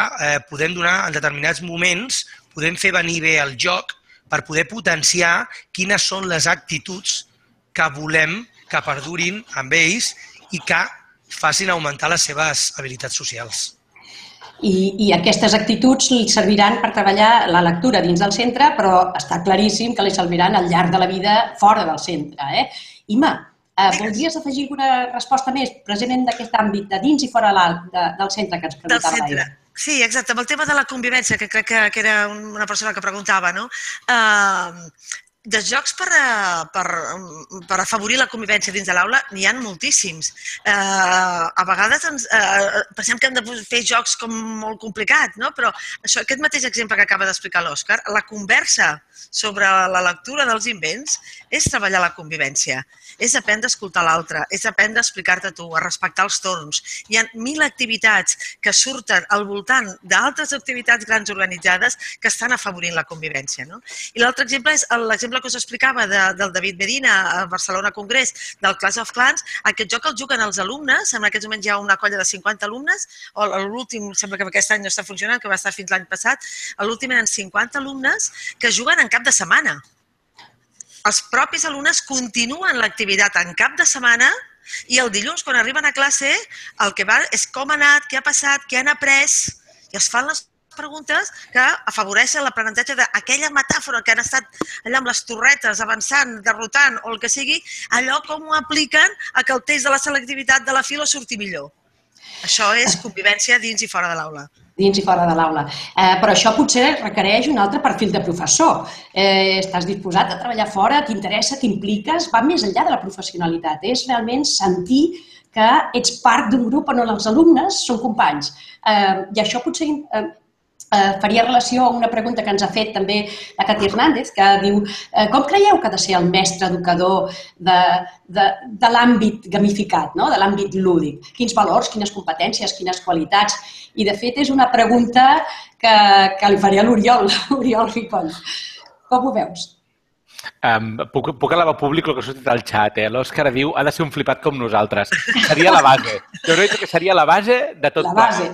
S4: podem donar en determinats moments, podem fer venir bé el joc per poder potenciar quines són les actituds que volem que perdurin amb ells i que facin augmentar les seves habilitats socials.
S1: I aquestes actituds li serviran per treballar la lectura dins del centre, però està claríssim que li serviran al llarg de la vida fora del centre. Ima, voldries afegir alguna resposta més precisament d'aquest àmbit de dins i fora del centre que ens preguntava l'Aina?
S2: Sí, exacte. Amb el tema de la convivència, que crec que era una persona que preguntava, no? De jocs per afavorir la convivència dins de l'aula n'hi ha moltíssims. A vegades pensem que hem de fer jocs com molt complicats, però aquest mateix exemple que acaba d'explicar l'Òscar, la conversa sobre la lectura dels invents és treballar la convivència, és aprendre a escoltar l'altre, és aprendre a explicar-te tu, a respectar els torns. Hi ha 1000 activitats que surten al voltant d'altres activitats grans organitzades que estan afavorint la convivència. I l'altre exemple és l'exemple que us explicava del David Medina a Barcelona Congrés, del Clash of Clans. Aquest joc el juguen els alumnes, en aquests moments hi ha una colla de 50 alumnes, o l'últim, sembla que aquest any no està funcionant, que va estar fins l'any passat, l'últim eren 50 alumnes que juguen en cap de setmana. Els propis alumnes continuen l'activitat en cap de setmana i el dilluns, quan arriben a classe, el que va és com ha anat, què ha passat, què han après, i es fan les preguntes que afavoreixen l'aprenentatge d'aquella metàfora que han estat allà amb les torretes, avançant, derrotant o el que sigui, allò com ho apliquen a que el test de la selectivitat de la filo surti millor. Això és convivència dins i fora de l'aula.
S1: Dins i fora de l'aula. Però això potser requereix un altre perfil de professor. Estàs disposat a treballar fora, t'interessa, t'impliques, va més enllà de la professionalitat. És realment sentir que ets part d'un grup on els alumnes són companys. I això potser faria relació a una pregunta que ens ha fet també la Cati Hernández, que diu com creieu que ha de ser el mestre educador de l'àmbit gamificat, de l'àmbit lúdic? Quins valors, quines competències, quines qualitats? I, de fet, és una pregunta que li faré a l'Oriol Ripoll. Com ho veus?
S3: Puc elevar públic el que ha sortit al xat. L'Òscar diu ha de ser un flipat com nosaltres. Seria la base. Jo crec que seria la base de tot. La base.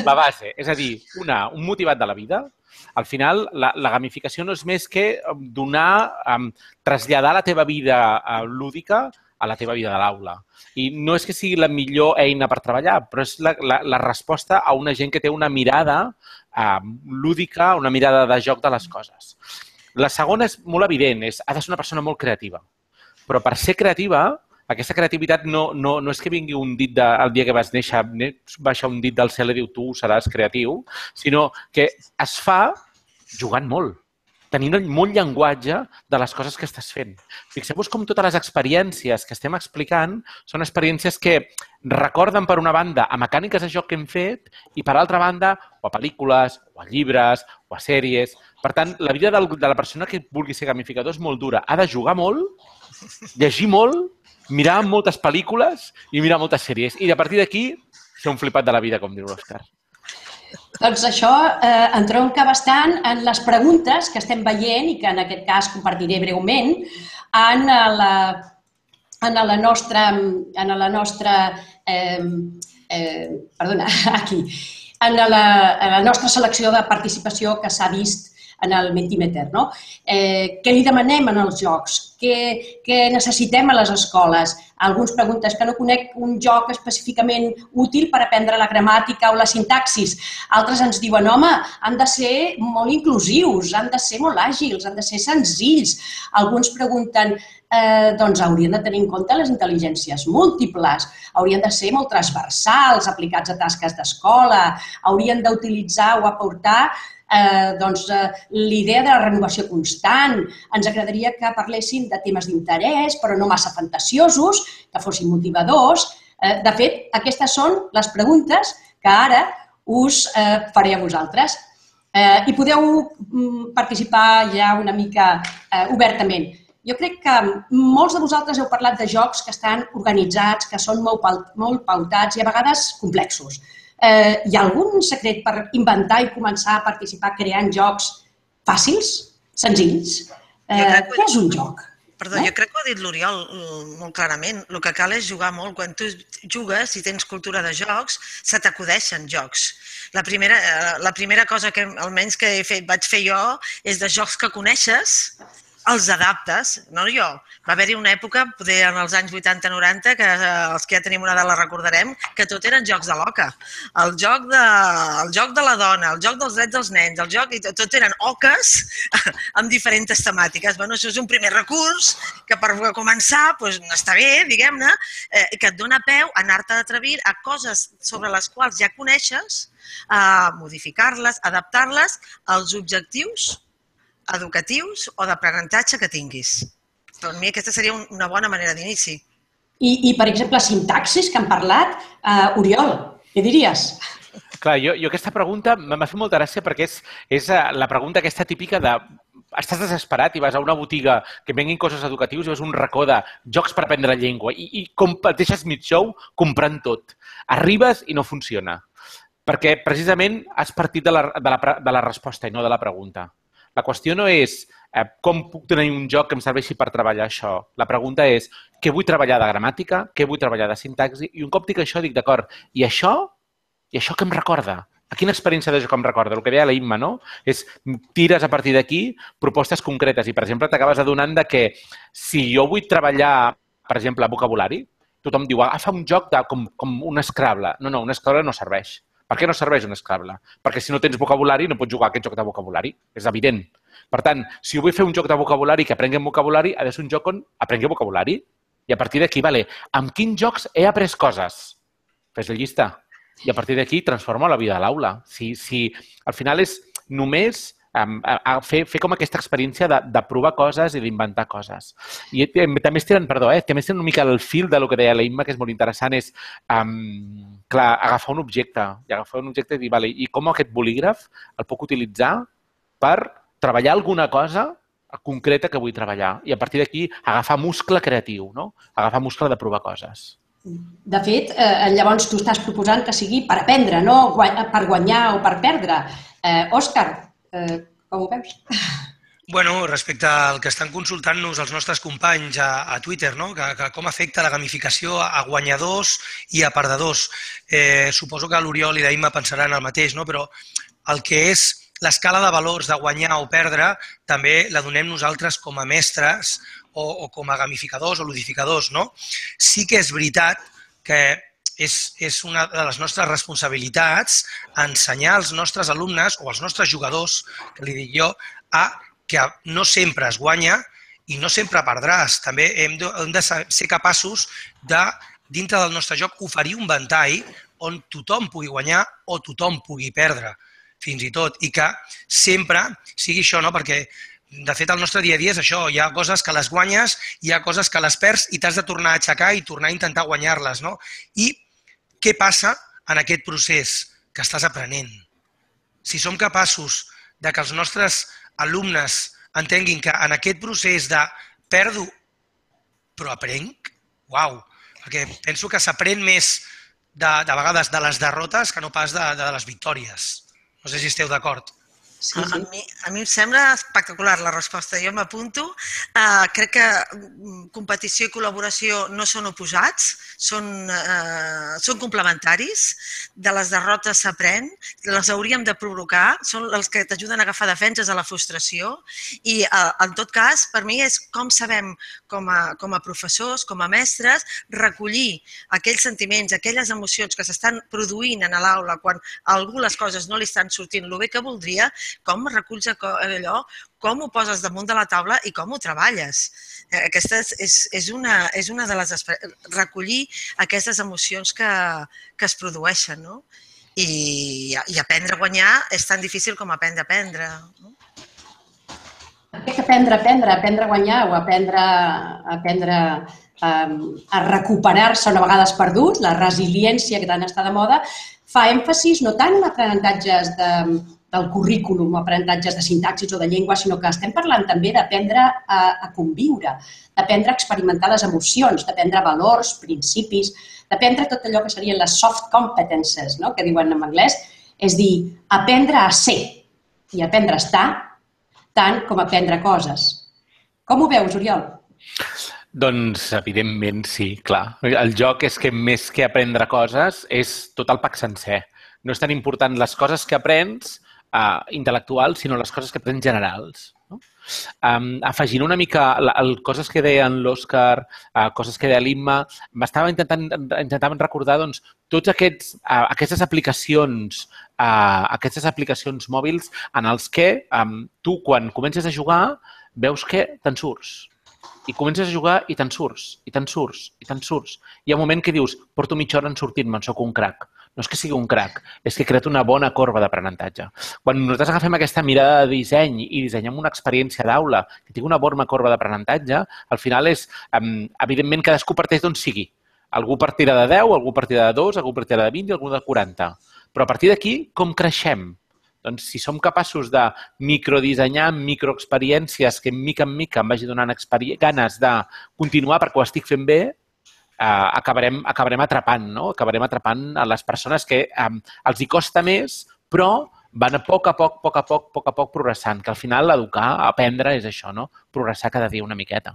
S3: La base. És a dir, un motivat de la vida. Al final, la gamificació no és més que traslladar la teva vida lúdica a la teva vida de l'aula. I no és que sigui la millor eina per treballar, però és la resposta a una gent que té una mirada lúdica, una mirada de joc de les coses. La segona és molt evident, ha de ser una persona molt creativa. Però per ser creativa, aquesta creativitat no és que vingui un dit el dia que vas néixer, baixa un dit del cel i diu tu seràs creatiu, sinó que es fa jugant molt, tenint molt llenguatge de les coses que estàs fent. Fixeu-vos com totes les experiències que estem explicant són experiències que recorden, per una banda, a mecàniques de joc que hem fet i, per altra banda, o a pel·lícules, o a llibres, o a sèries. Per tant, la vida de la persona que vulgui ser gamificador és molt dura. Ha de jugar molt, llegir molt, mirar moltes pel·lícules i mirar moltes sèries. I, a partir d'aquí, ser un flipat de la vida, com diu l'Òscar.
S1: Doncs això entronca bastant en les preguntes que estem veient i que en aquest cas compartiré breument en la nostra selecció de participació que s'ha vist en el Mentimeter. Què li demanem en els jocs? Què necessitem a les escoles? Alguns pregunten que no conec un joc específicament útil per aprendre la gramàtica o la sintaxis. Altres ens diuen, home, han de ser molt inclusius, han de ser molt àgils, han de ser senzills. Alguns pregunten, doncs haurien de tenir en compte les intel·ligències múltiples, haurien de ser molt transversals, aplicats a tasques d'escola, haurien d'utilitzar o aportar l'idea de la renovació constant. Ens agradaria que parlessin de temes d'interès, però no massa fantasiosos, que fossin motivadors. De fet, aquestes són les preguntes que ara us faré a vosaltres. I podeu participar ja una mica obertament. jo crec que molts de vosaltres heu parlat de jocs que estan organitzats, que són molt pautats i a vegades complexos. Hi ha algun secret per inventar i començar a participar creant jocs fàcils, senzills? Què és un joc?
S2: Perdó, jo crec que ho ha dit l'Oriol molt clarament. El que cal és jugar molt. Quan tu jugues i tens cultura de jocs, se t'acudeixen jocs. La primera cosa que almenys que vaig fer jo és de jocs que coneixes, els adaptes, no jo. Va haver-hi una època, poder en els anys 80-90, que els que ja tenim una edat la recordarem, que tot eren jocs de l'oca. El joc de la dona, el joc dels drets dels nens, tot eren oques amb diferents temàtiques. Bueno, això és un primer recurs que per començar està bé, diguem-ne, que et dona peu a anar-te d'atrevir a coses sobre les quals ja coneixes, a modificar-les, adaptar-les als objectius educatius o d'aprenentatge que tinguis. Per mi aquesta seria una bona manera d'inici.
S1: I, per exemple, sintaxis, que han parlat. Oriol, què diries?
S3: Clar, jo aquesta pregunta m'ha fet molta gràcia perquè és la pregunta aquesta típica de estàs desesperat i vas a una botiga que venguin coses educatius i veus un racó de jocs per aprendre llengua i com deixes mig show comprant tot. Arribes i no funciona. Perquè precisament has partit de la resposta i no de la pregunta. La qüestió no és com puc tenir un joc que em serveixi per treballar això. La pregunta és què vull treballar de gramàtica, què vull treballar de sintaxi, i un cop dic això dic, d'acord, i això què em recorda? A quina experiència de joc em recorda? El que deia la Imma, no? És tires a partir d'aquí propostes concretes i, per exemple, t'acabes adonant que si jo vull treballar, per exemple, vocabulari, tothom diu, agafa un joc com un Scrabble. No, un Scrabble no serveix. Per què no serveix un Scrabble? Perquè si no tens vocabulari no pots jugar a aquest joc de vocabulari. És evident. Per tant, si jo vull fer un joc de vocabulari que aprengui vocabulari, ha de ser un joc on aprengui vocabulari. I a partir d'aquí, amb quins jocs he après coses? Fes la llista. I a partir d'aquí transforma la vida a l'aula. Si al final és només fer com aquesta experiència de provar coses i d'inventar coses. I també estiren una mica el fil del que deia la Imma, que és molt interessant, és agafar un objecte i dir, i com aquest bolígraf el puc utilitzar per treballar alguna cosa concreta que vull treballar. I a partir d'aquí agafar muscle creatiu, agafar muscle de provar coses.
S1: De fet, llavors tu estàs proposant que sigui per aprendre, no per guanyar o per perdre. Òscar, com ho veus?
S4: Bueno, respecte al que estan consultant-nos els nostres companys a Twitter, que com afecta la gamificació a guanyadors i a perdedors. Suposo que l'Oriol i la Imma pensaran el mateix, però el que és l'escala de valors de guanyar o perdre també la donem nosaltres com a mestres o com a gamificadors o ludificadors. Sí que és veritat que és una de les nostres responsabilitats ensenyar als nostres alumnes o als nostres jugadors, que li dic jo, que no sempre es guanya i no sempre perdràs. També hem de ser capaços de, dintre del nostre joc, oferir un ventall on tothom pugui guanyar o tothom pugui perdre, fins i tot. I que sempre sigui això, perquè de fet el nostre dia a dia és això. Hi ha coses que les guanyes, hi ha coses que les perds i t'has de tornar a aixecar i tornar a intentar guanyar-les. I què passa en aquest procés que estàs aprenent? Si som capaços de que els nostres alumnes entenguin que en aquest procés de perdo però aprenc, uau, perquè penso que s'aprèn més de vegades de les derrotes que no pas de les victòries. No sé si esteu d'acord.
S2: Sí. A mi em sembla espectacular la resposta. Jo m'apunto. Crec que competició i col·laboració no són oposats, són complementaris. De les derrotes s'aprèn, les hauríem de provocar, són els que t'ajuden a agafar defenses a la frustració i, en tot cas, per mi és com sabem, com a professors, com a mestres, recollir aquells sentiments, aquelles emocions que s'estan produint a l'aula quan a algú les coses no li estan sortint el bé que voldria, com reculls allò, com ho poses damunt de la taula i com ho treballes. Aquesta és una de les... recollir aquestes emocions que es produeixen, no? I aprendre a guanyar és tan difícil com aprendre a aprendre.
S1: Aprendre a guanyar o aprendre a recuperar-se una vegada perdut, la resiliència que tant està de moda, fa èmfasis no tant en aprenentatges del currículum o aprenentatges de sintaxis o de llengua, sinó que estem parlant també d'aprendre a conviure, d'aprendre a experimentar les emocions, d'aprendre valors, principis, d'aprendre tot allò que serien les soft competences, no?, que diuen en anglès, és dir, aprendre a ser i aprendre a estar tant com aprendre coses. Com ho veus, Oriol?
S3: Doncs, evidentment, sí, clar. El joc és que més que aprendre coses és tot el pack sencer. No és tan important les coses que aprens intel·lectuals, sinó les coses que aprens generals. Afegint una mica coses que deien l'Òscar, coses que deia l'Imma, m'estava intentant recordar tots aquestes aplicacions mòbils en els que tu, quan comences a jugar, veus que te'n surts. I comences a jugar i te'n surts, i te'n surts, i te'n surts. Hi ha un moment que dius, porto mitja hora en sortir-me'n, soc un crac. No és que sigui un crac, és que he creat una bona corba d'aprenentatge. Quan nosaltres agafem aquesta mirada de disseny i dissenyem una experiència d'aula que tingui una bona corba d'aprenentatge, al final és, evidentment, cadascú parteix d'on sigui. Algú partirà de 10, algú partirà de 2, algú partirà de 20 i algú de 40. Però a partir d'aquí, com creixem? Doncs si som capaços de microdissenyar microexperiències que mica en mica em vagi donant ganes de continuar perquè ho estic fent bé, acabarem atrapant, no? Acabarem atrapant a les persones que els hi costa més, però van a poc a poc progressant, que al final educar, aprendre és això, no? Progressar cada dia una miqueta.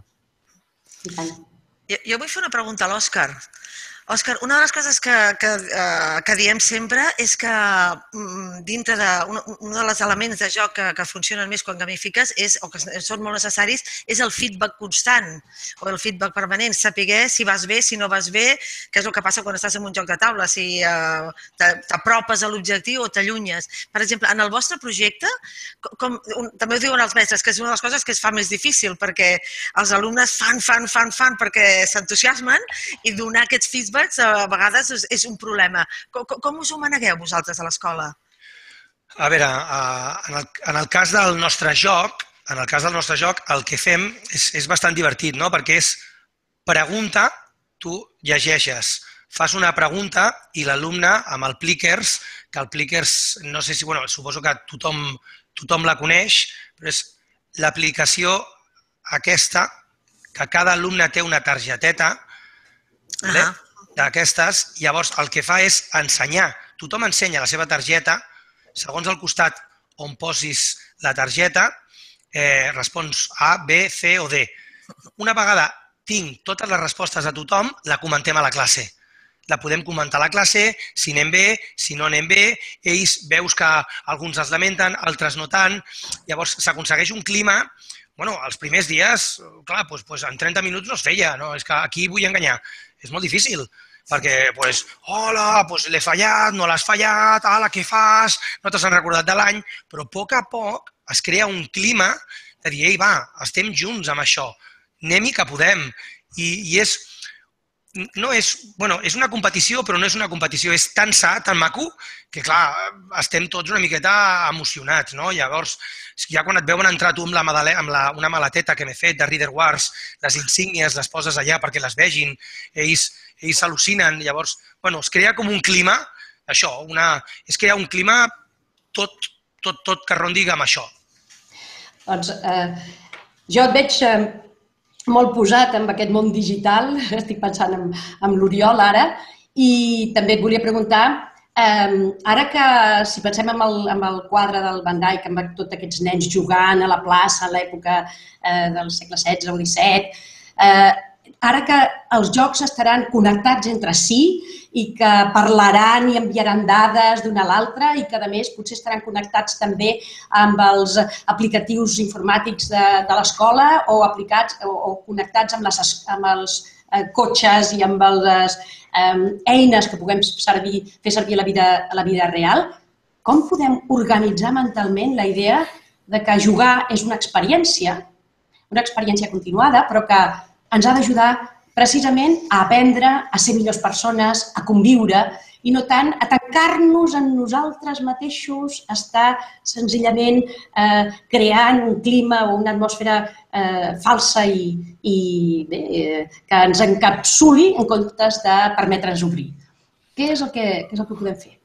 S2: Jo vull fer una pregunta a l'Òscar. Òscar, una de les coses que diem sempre és que dintre un dels elements de joc que funcionen més quan gamifiques o que són molt necessaris és el feedback constant o el feedback permanent, saber si vas bé, si no vas bé, que és el que passa quan estàs en un joc de taula, si t'apropes a l'objectiu o t'allunyes. Per exemple, en el vostre projecte, també ho diuen els mestres, que és una de les coses que es fa més difícil perquè els alumnes fan perquè s'entusiasmen i donar aquests feedbacks a vegades és un problema. Com us ho manegueu vosaltres a l'escola?
S4: A veure, en el cas del nostre joc, el que fem és bastant divertit, no? Perquè és pregunta, tu llegeixes, fas una pregunta i l'alumne amb el Plickers, que el Plickers, no sé si, suposo que tothom la coneix, però és l'aplicació aquesta, que cada alumne té una targeteta, d'aquestes, llavors el que fa és ensenyar. Tothom ensenya la seva targeta, segons el costat on posis la targeta, respons A, B, C o D. Una vegada tinc totes les respostes a tothom, la comentem a la classe. La podem comentar a la classe, si anem bé, si no anem bé, ells veus que alguns es lamenten, altres no tant, llavors s'aconsegueix un clima. Els primers dies, clar, en 30 minuts no es feia, és que aquí vull enganyar. És molt difícil, perquè, hola, l'he fallat, no l'has fallat, ala, què fas, no te n'has recordat de l'any, però a poc es crea un clima de dir, ei, va, estem junts amb això, anem-hi que podem. I és una competició, però no és una competició, és tan sa, tan maco, que clar, estem tots una miqueta emocionats, no? Llavors, ja quan et veuen entrar tu amb una maleteta que m'he fet de Reader Wars, les insígnies les poses allà perquè les vegin, ells s'al·lucinen, llavors, es crea com un clima, això, es crea un clima tot que rondi amb això.
S1: Doncs jo et veig molt posat en aquest món digital, estic pensant en l'Oriol ara, i també et volia preguntar, ara que si pensem en el quadre del Van Dyck, amb tots aquests nens jugant a la plaça a l'època del segle XVI o XVII, ara que els jocs estaran connectats entre si i que parlaran i enviaran dades d'una a l'altra i que, a més, potser estaran connectats també amb els aplicatius informàtics de l'escola o connectats amb els cotxes i amb les eines que puguem fer servir a la vida real, com podem organitzar mentalment la idea que jugar és una experiència continuada, però que ens ha d'ajudar precisament a aprendre, a ser millors persones, a conviure i no tant a tancar-nos en nosaltres mateixos, a estar senzillament creant un clima o una atmosfera falsa i que ens encapsuli en comptes de permetre'ns obrir. Què és el que podem fer?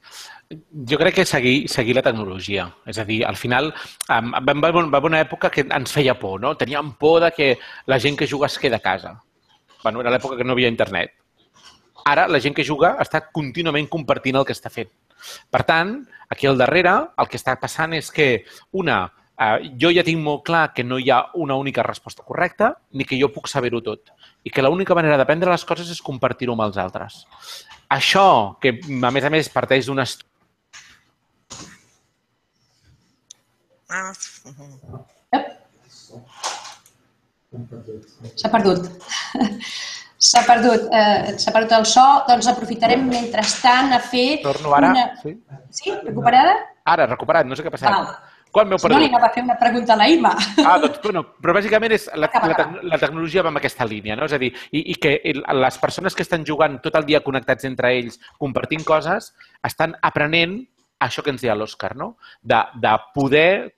S3: Jo crec que seguir la tecnologia. És a dir, al final va haver una època que ens feia por, no? Teníem por de que la gent que juga es queda a casa. Bueno, era l'època que no hi havia internet. Ara la gent que juga està contínuament compartint el que està fent. Per tant, aquí al darrere el que està passant és que, jo ja tinc molt clar que no hi ha una única resposta correcta ni que jo puc saber-ho tot i que l'única manera d'aprendre les coses és compartir-ho amb els altres. Això, que a més parteix d'un estudi...
S1: S'ha perdut. S'ha perdut el so, doncs aprofitarem mentrestant a fer...
S3: Torno ara?
S1: Sí? Sí? Recuperada?
S3: Ara, recuperat, no sé què ha passat.
S1: Val.
S3: Quan m'heu
S1: Si no,
S3: perdut?
S1: li anava a fer una pregunta a la Ima.
S3: Doncs, bueno, però bàsicament és la tecnologia va en aquesta línia, no? És a dir, i que les persones que estan jugant tot el dia connectats entre ells, compartint coses, estan aprenent això que ens deia l'Òscar, no? De poder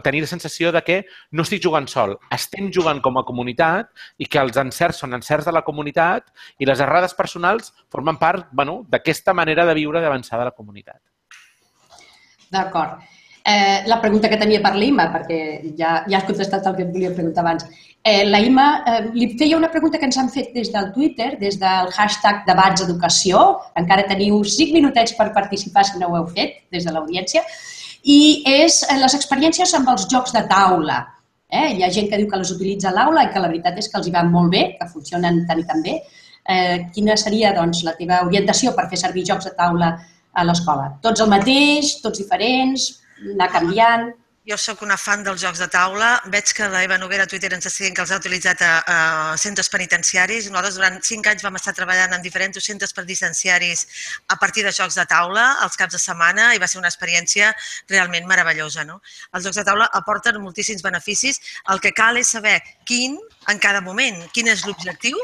S3: tenir la sensació de que no estic jugant sol, estem jugant com a comunitat i que els encerts són encerts de la comunitat i les errades personals formen part, bueno, d'aquesta manera de viure d'avançar de la comunitat.
S1: D'acord. La pregunta que tenia per l'Ima, perquè ja has contestat el que et volia preguntar abans. La Ima li feia una pregunta que ens han fet des del Twitter, des del hashtag debatseducació. Encara teniu 5 minutets per participar si no ho heu fet, des de l'audiència. I és les experiències amb els jocs de taula. Hi ha gent que diu que les utilitza a l'aula i que la veritat és que els hi van molt bé, que funcionen tan i tan bé. Quina seria doncs, la teva orientació per fer servir jocs de taula a l'escola? Tots el mateix, tots diferents, anar canviant?
S2: Jo sóc una fan dels jocs de taula. Veig que la Eva Noguera a Twitter ens està dient que els ha utilitzat a centres penitenciaris. Nosaltres durant 5 anys vam estar treballant en diferents centres penitenciaris a partir de jocs de taula els caps de setmana i va ser una experiència realment meravellosa. Els jocs de taula aporten moltíssims beneficis. El que cal és saber quin, en cada moment, quin és l'objectiu.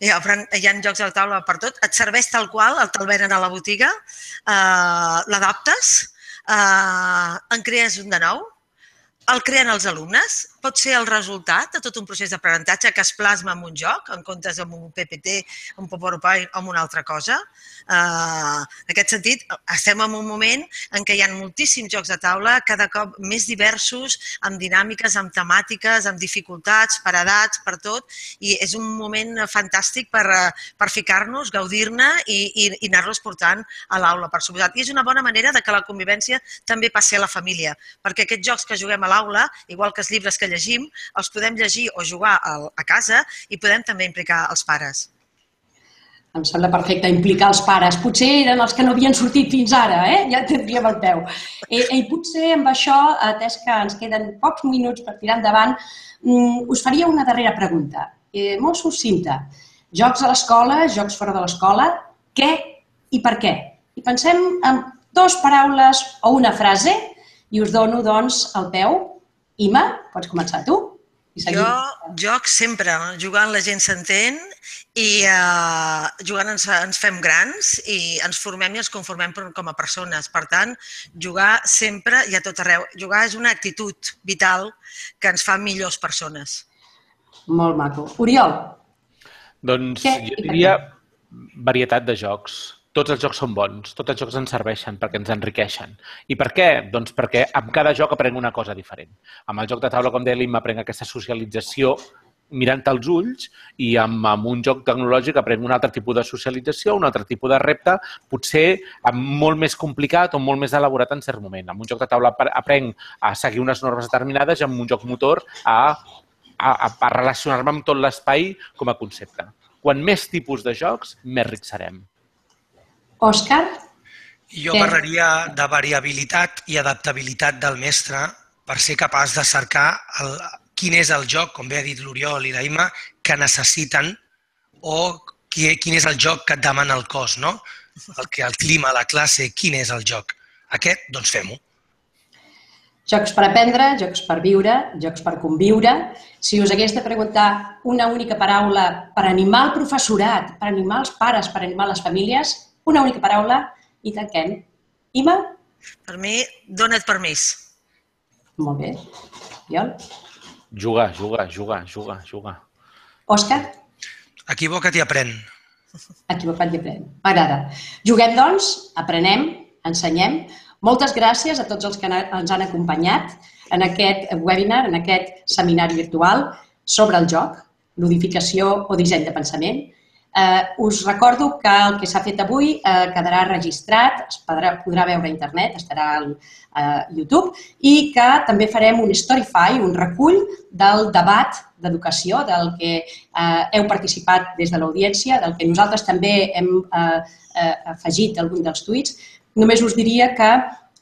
S2: Hi ha jocs de taula per tot. Et serveix tal qual, te'l venen a la botiga, l'adaptes, en crees un de nou, el creen els alumnes, pot ser el resultat de tot un procés d'aprenentatge que es plasma en un joc, en comptes amb un PPT, un PowerPoint o amb una altra cosa. En aquest sentit, estem en un moment en què hi ha moltíssims jocs de taula, cada cop més diversos, amb dinàmiques, amb temàtiques, amb dificultats, per edats, per tot, i és un moment fantàstic per ficar-nos, gaudir-ne i anar-los portant a l'aula, per suposat. I és una bona manera que la convivència també passi a la família, perquè aquests jocs que juguem a l'aula, igual que els llibres que llegim, els podem llegir o jugar a casa i podem també implicar els pares.
S1: Em sembla perfecte implicar els pares. Potser eren els que no havien sortit fins ara, ja tindríem el peu. I potser amb això, atès que ens queden pocs minuts per tirar endavant, us faria una darrera pregunta, molt succinta. Jocs a l'escola, jocs fora de l'escola, què i per què? I pensem en 2 paraules o una frase i us dono, doncs, el peu. Ima, pots començar tu?
S2: Jo joc sempre, jugant la gent s'entén i jugant ens fem grans i ens formem i ens conformem com a persones. Per tant, jugar sempre i a tot arreu. Jugar és una actitud vital que ens fa millors persones.
S1: Molt maco. Oriol?
S3: Doncs jo diria varietat de jocs. Tots els jocs són bons, tots els jocs ens serveixen perquè ens enriqueixen. I per què? Doncs perquè amb cada joc aprenc una cosa diferent. Amb el joc de taula, com deia l'Imma, aprenc aquesta socialització mirant als ulls i amb un joc tecnològic aprenc un altre tipus de socialització, un altre tipus de repte, potser molt més complicat o molt més elaborat en cert moment. Amb un joc de taula aprenc a seguir unes normes determinades i amb un joc motor a relacionar-me amb tot l'espai com a concepte. Quan més tipus de jocs, més rics serem.
S1: Òscar?
S4: Jo parlaria de variabilitat i adaptabilitat del mestre per ser capaç de cercar quin és el joc, com bé ha dit l'Oriol i la Imma, que necessiten o quin és el joc que et demana el cos, no? El clima, la classe, quin és el joc. Aquest, doncs fem-ho.
S1: Jocs per aprendre, jocs per viure, jocs per conviure. Si us hagués de preguntar una única paraula per animar el professorat, per animar els pares, per animar les famílies, una única paraula i tanquem. Ima?
S2: Per mi, dona't permís.
S1: Molt bé. Oriol?
S3: Jugar.
S1: Òscar?
S4: Equivoca't i aprèn.
S1: Equivocat i aprèn. M'agrada. Juguem, doncs, aprenem ensenyem. Moltes gràcies a tots els que ens han acompanyat en aquest webinar, en aquest seminari virtual sobre el joc, ludificació o disseny de pensament. Us recordo que el que s'ha fet avui quedarà registrat, es podrà veure a internet, estarà a YouTube, i que també farem un Storify, un recull del debat d'educació, del que heu participat des de l'audiència, del que nosaltres també hem afegit algun dels tuits. Només us diria que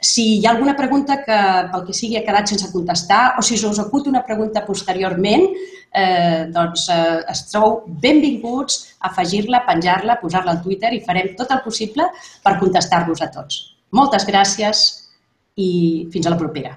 S1: si hi ha alguna pregunta que pel que sigui ha quedat sense contestar o si us acut una pregunta posteriorment, doncs esteu benvinguts a afegir-la, penjar-la, posar-la al Twitter i farem tot el possible per contestar-vos a tots. Moltes gràcies i fins a la propera.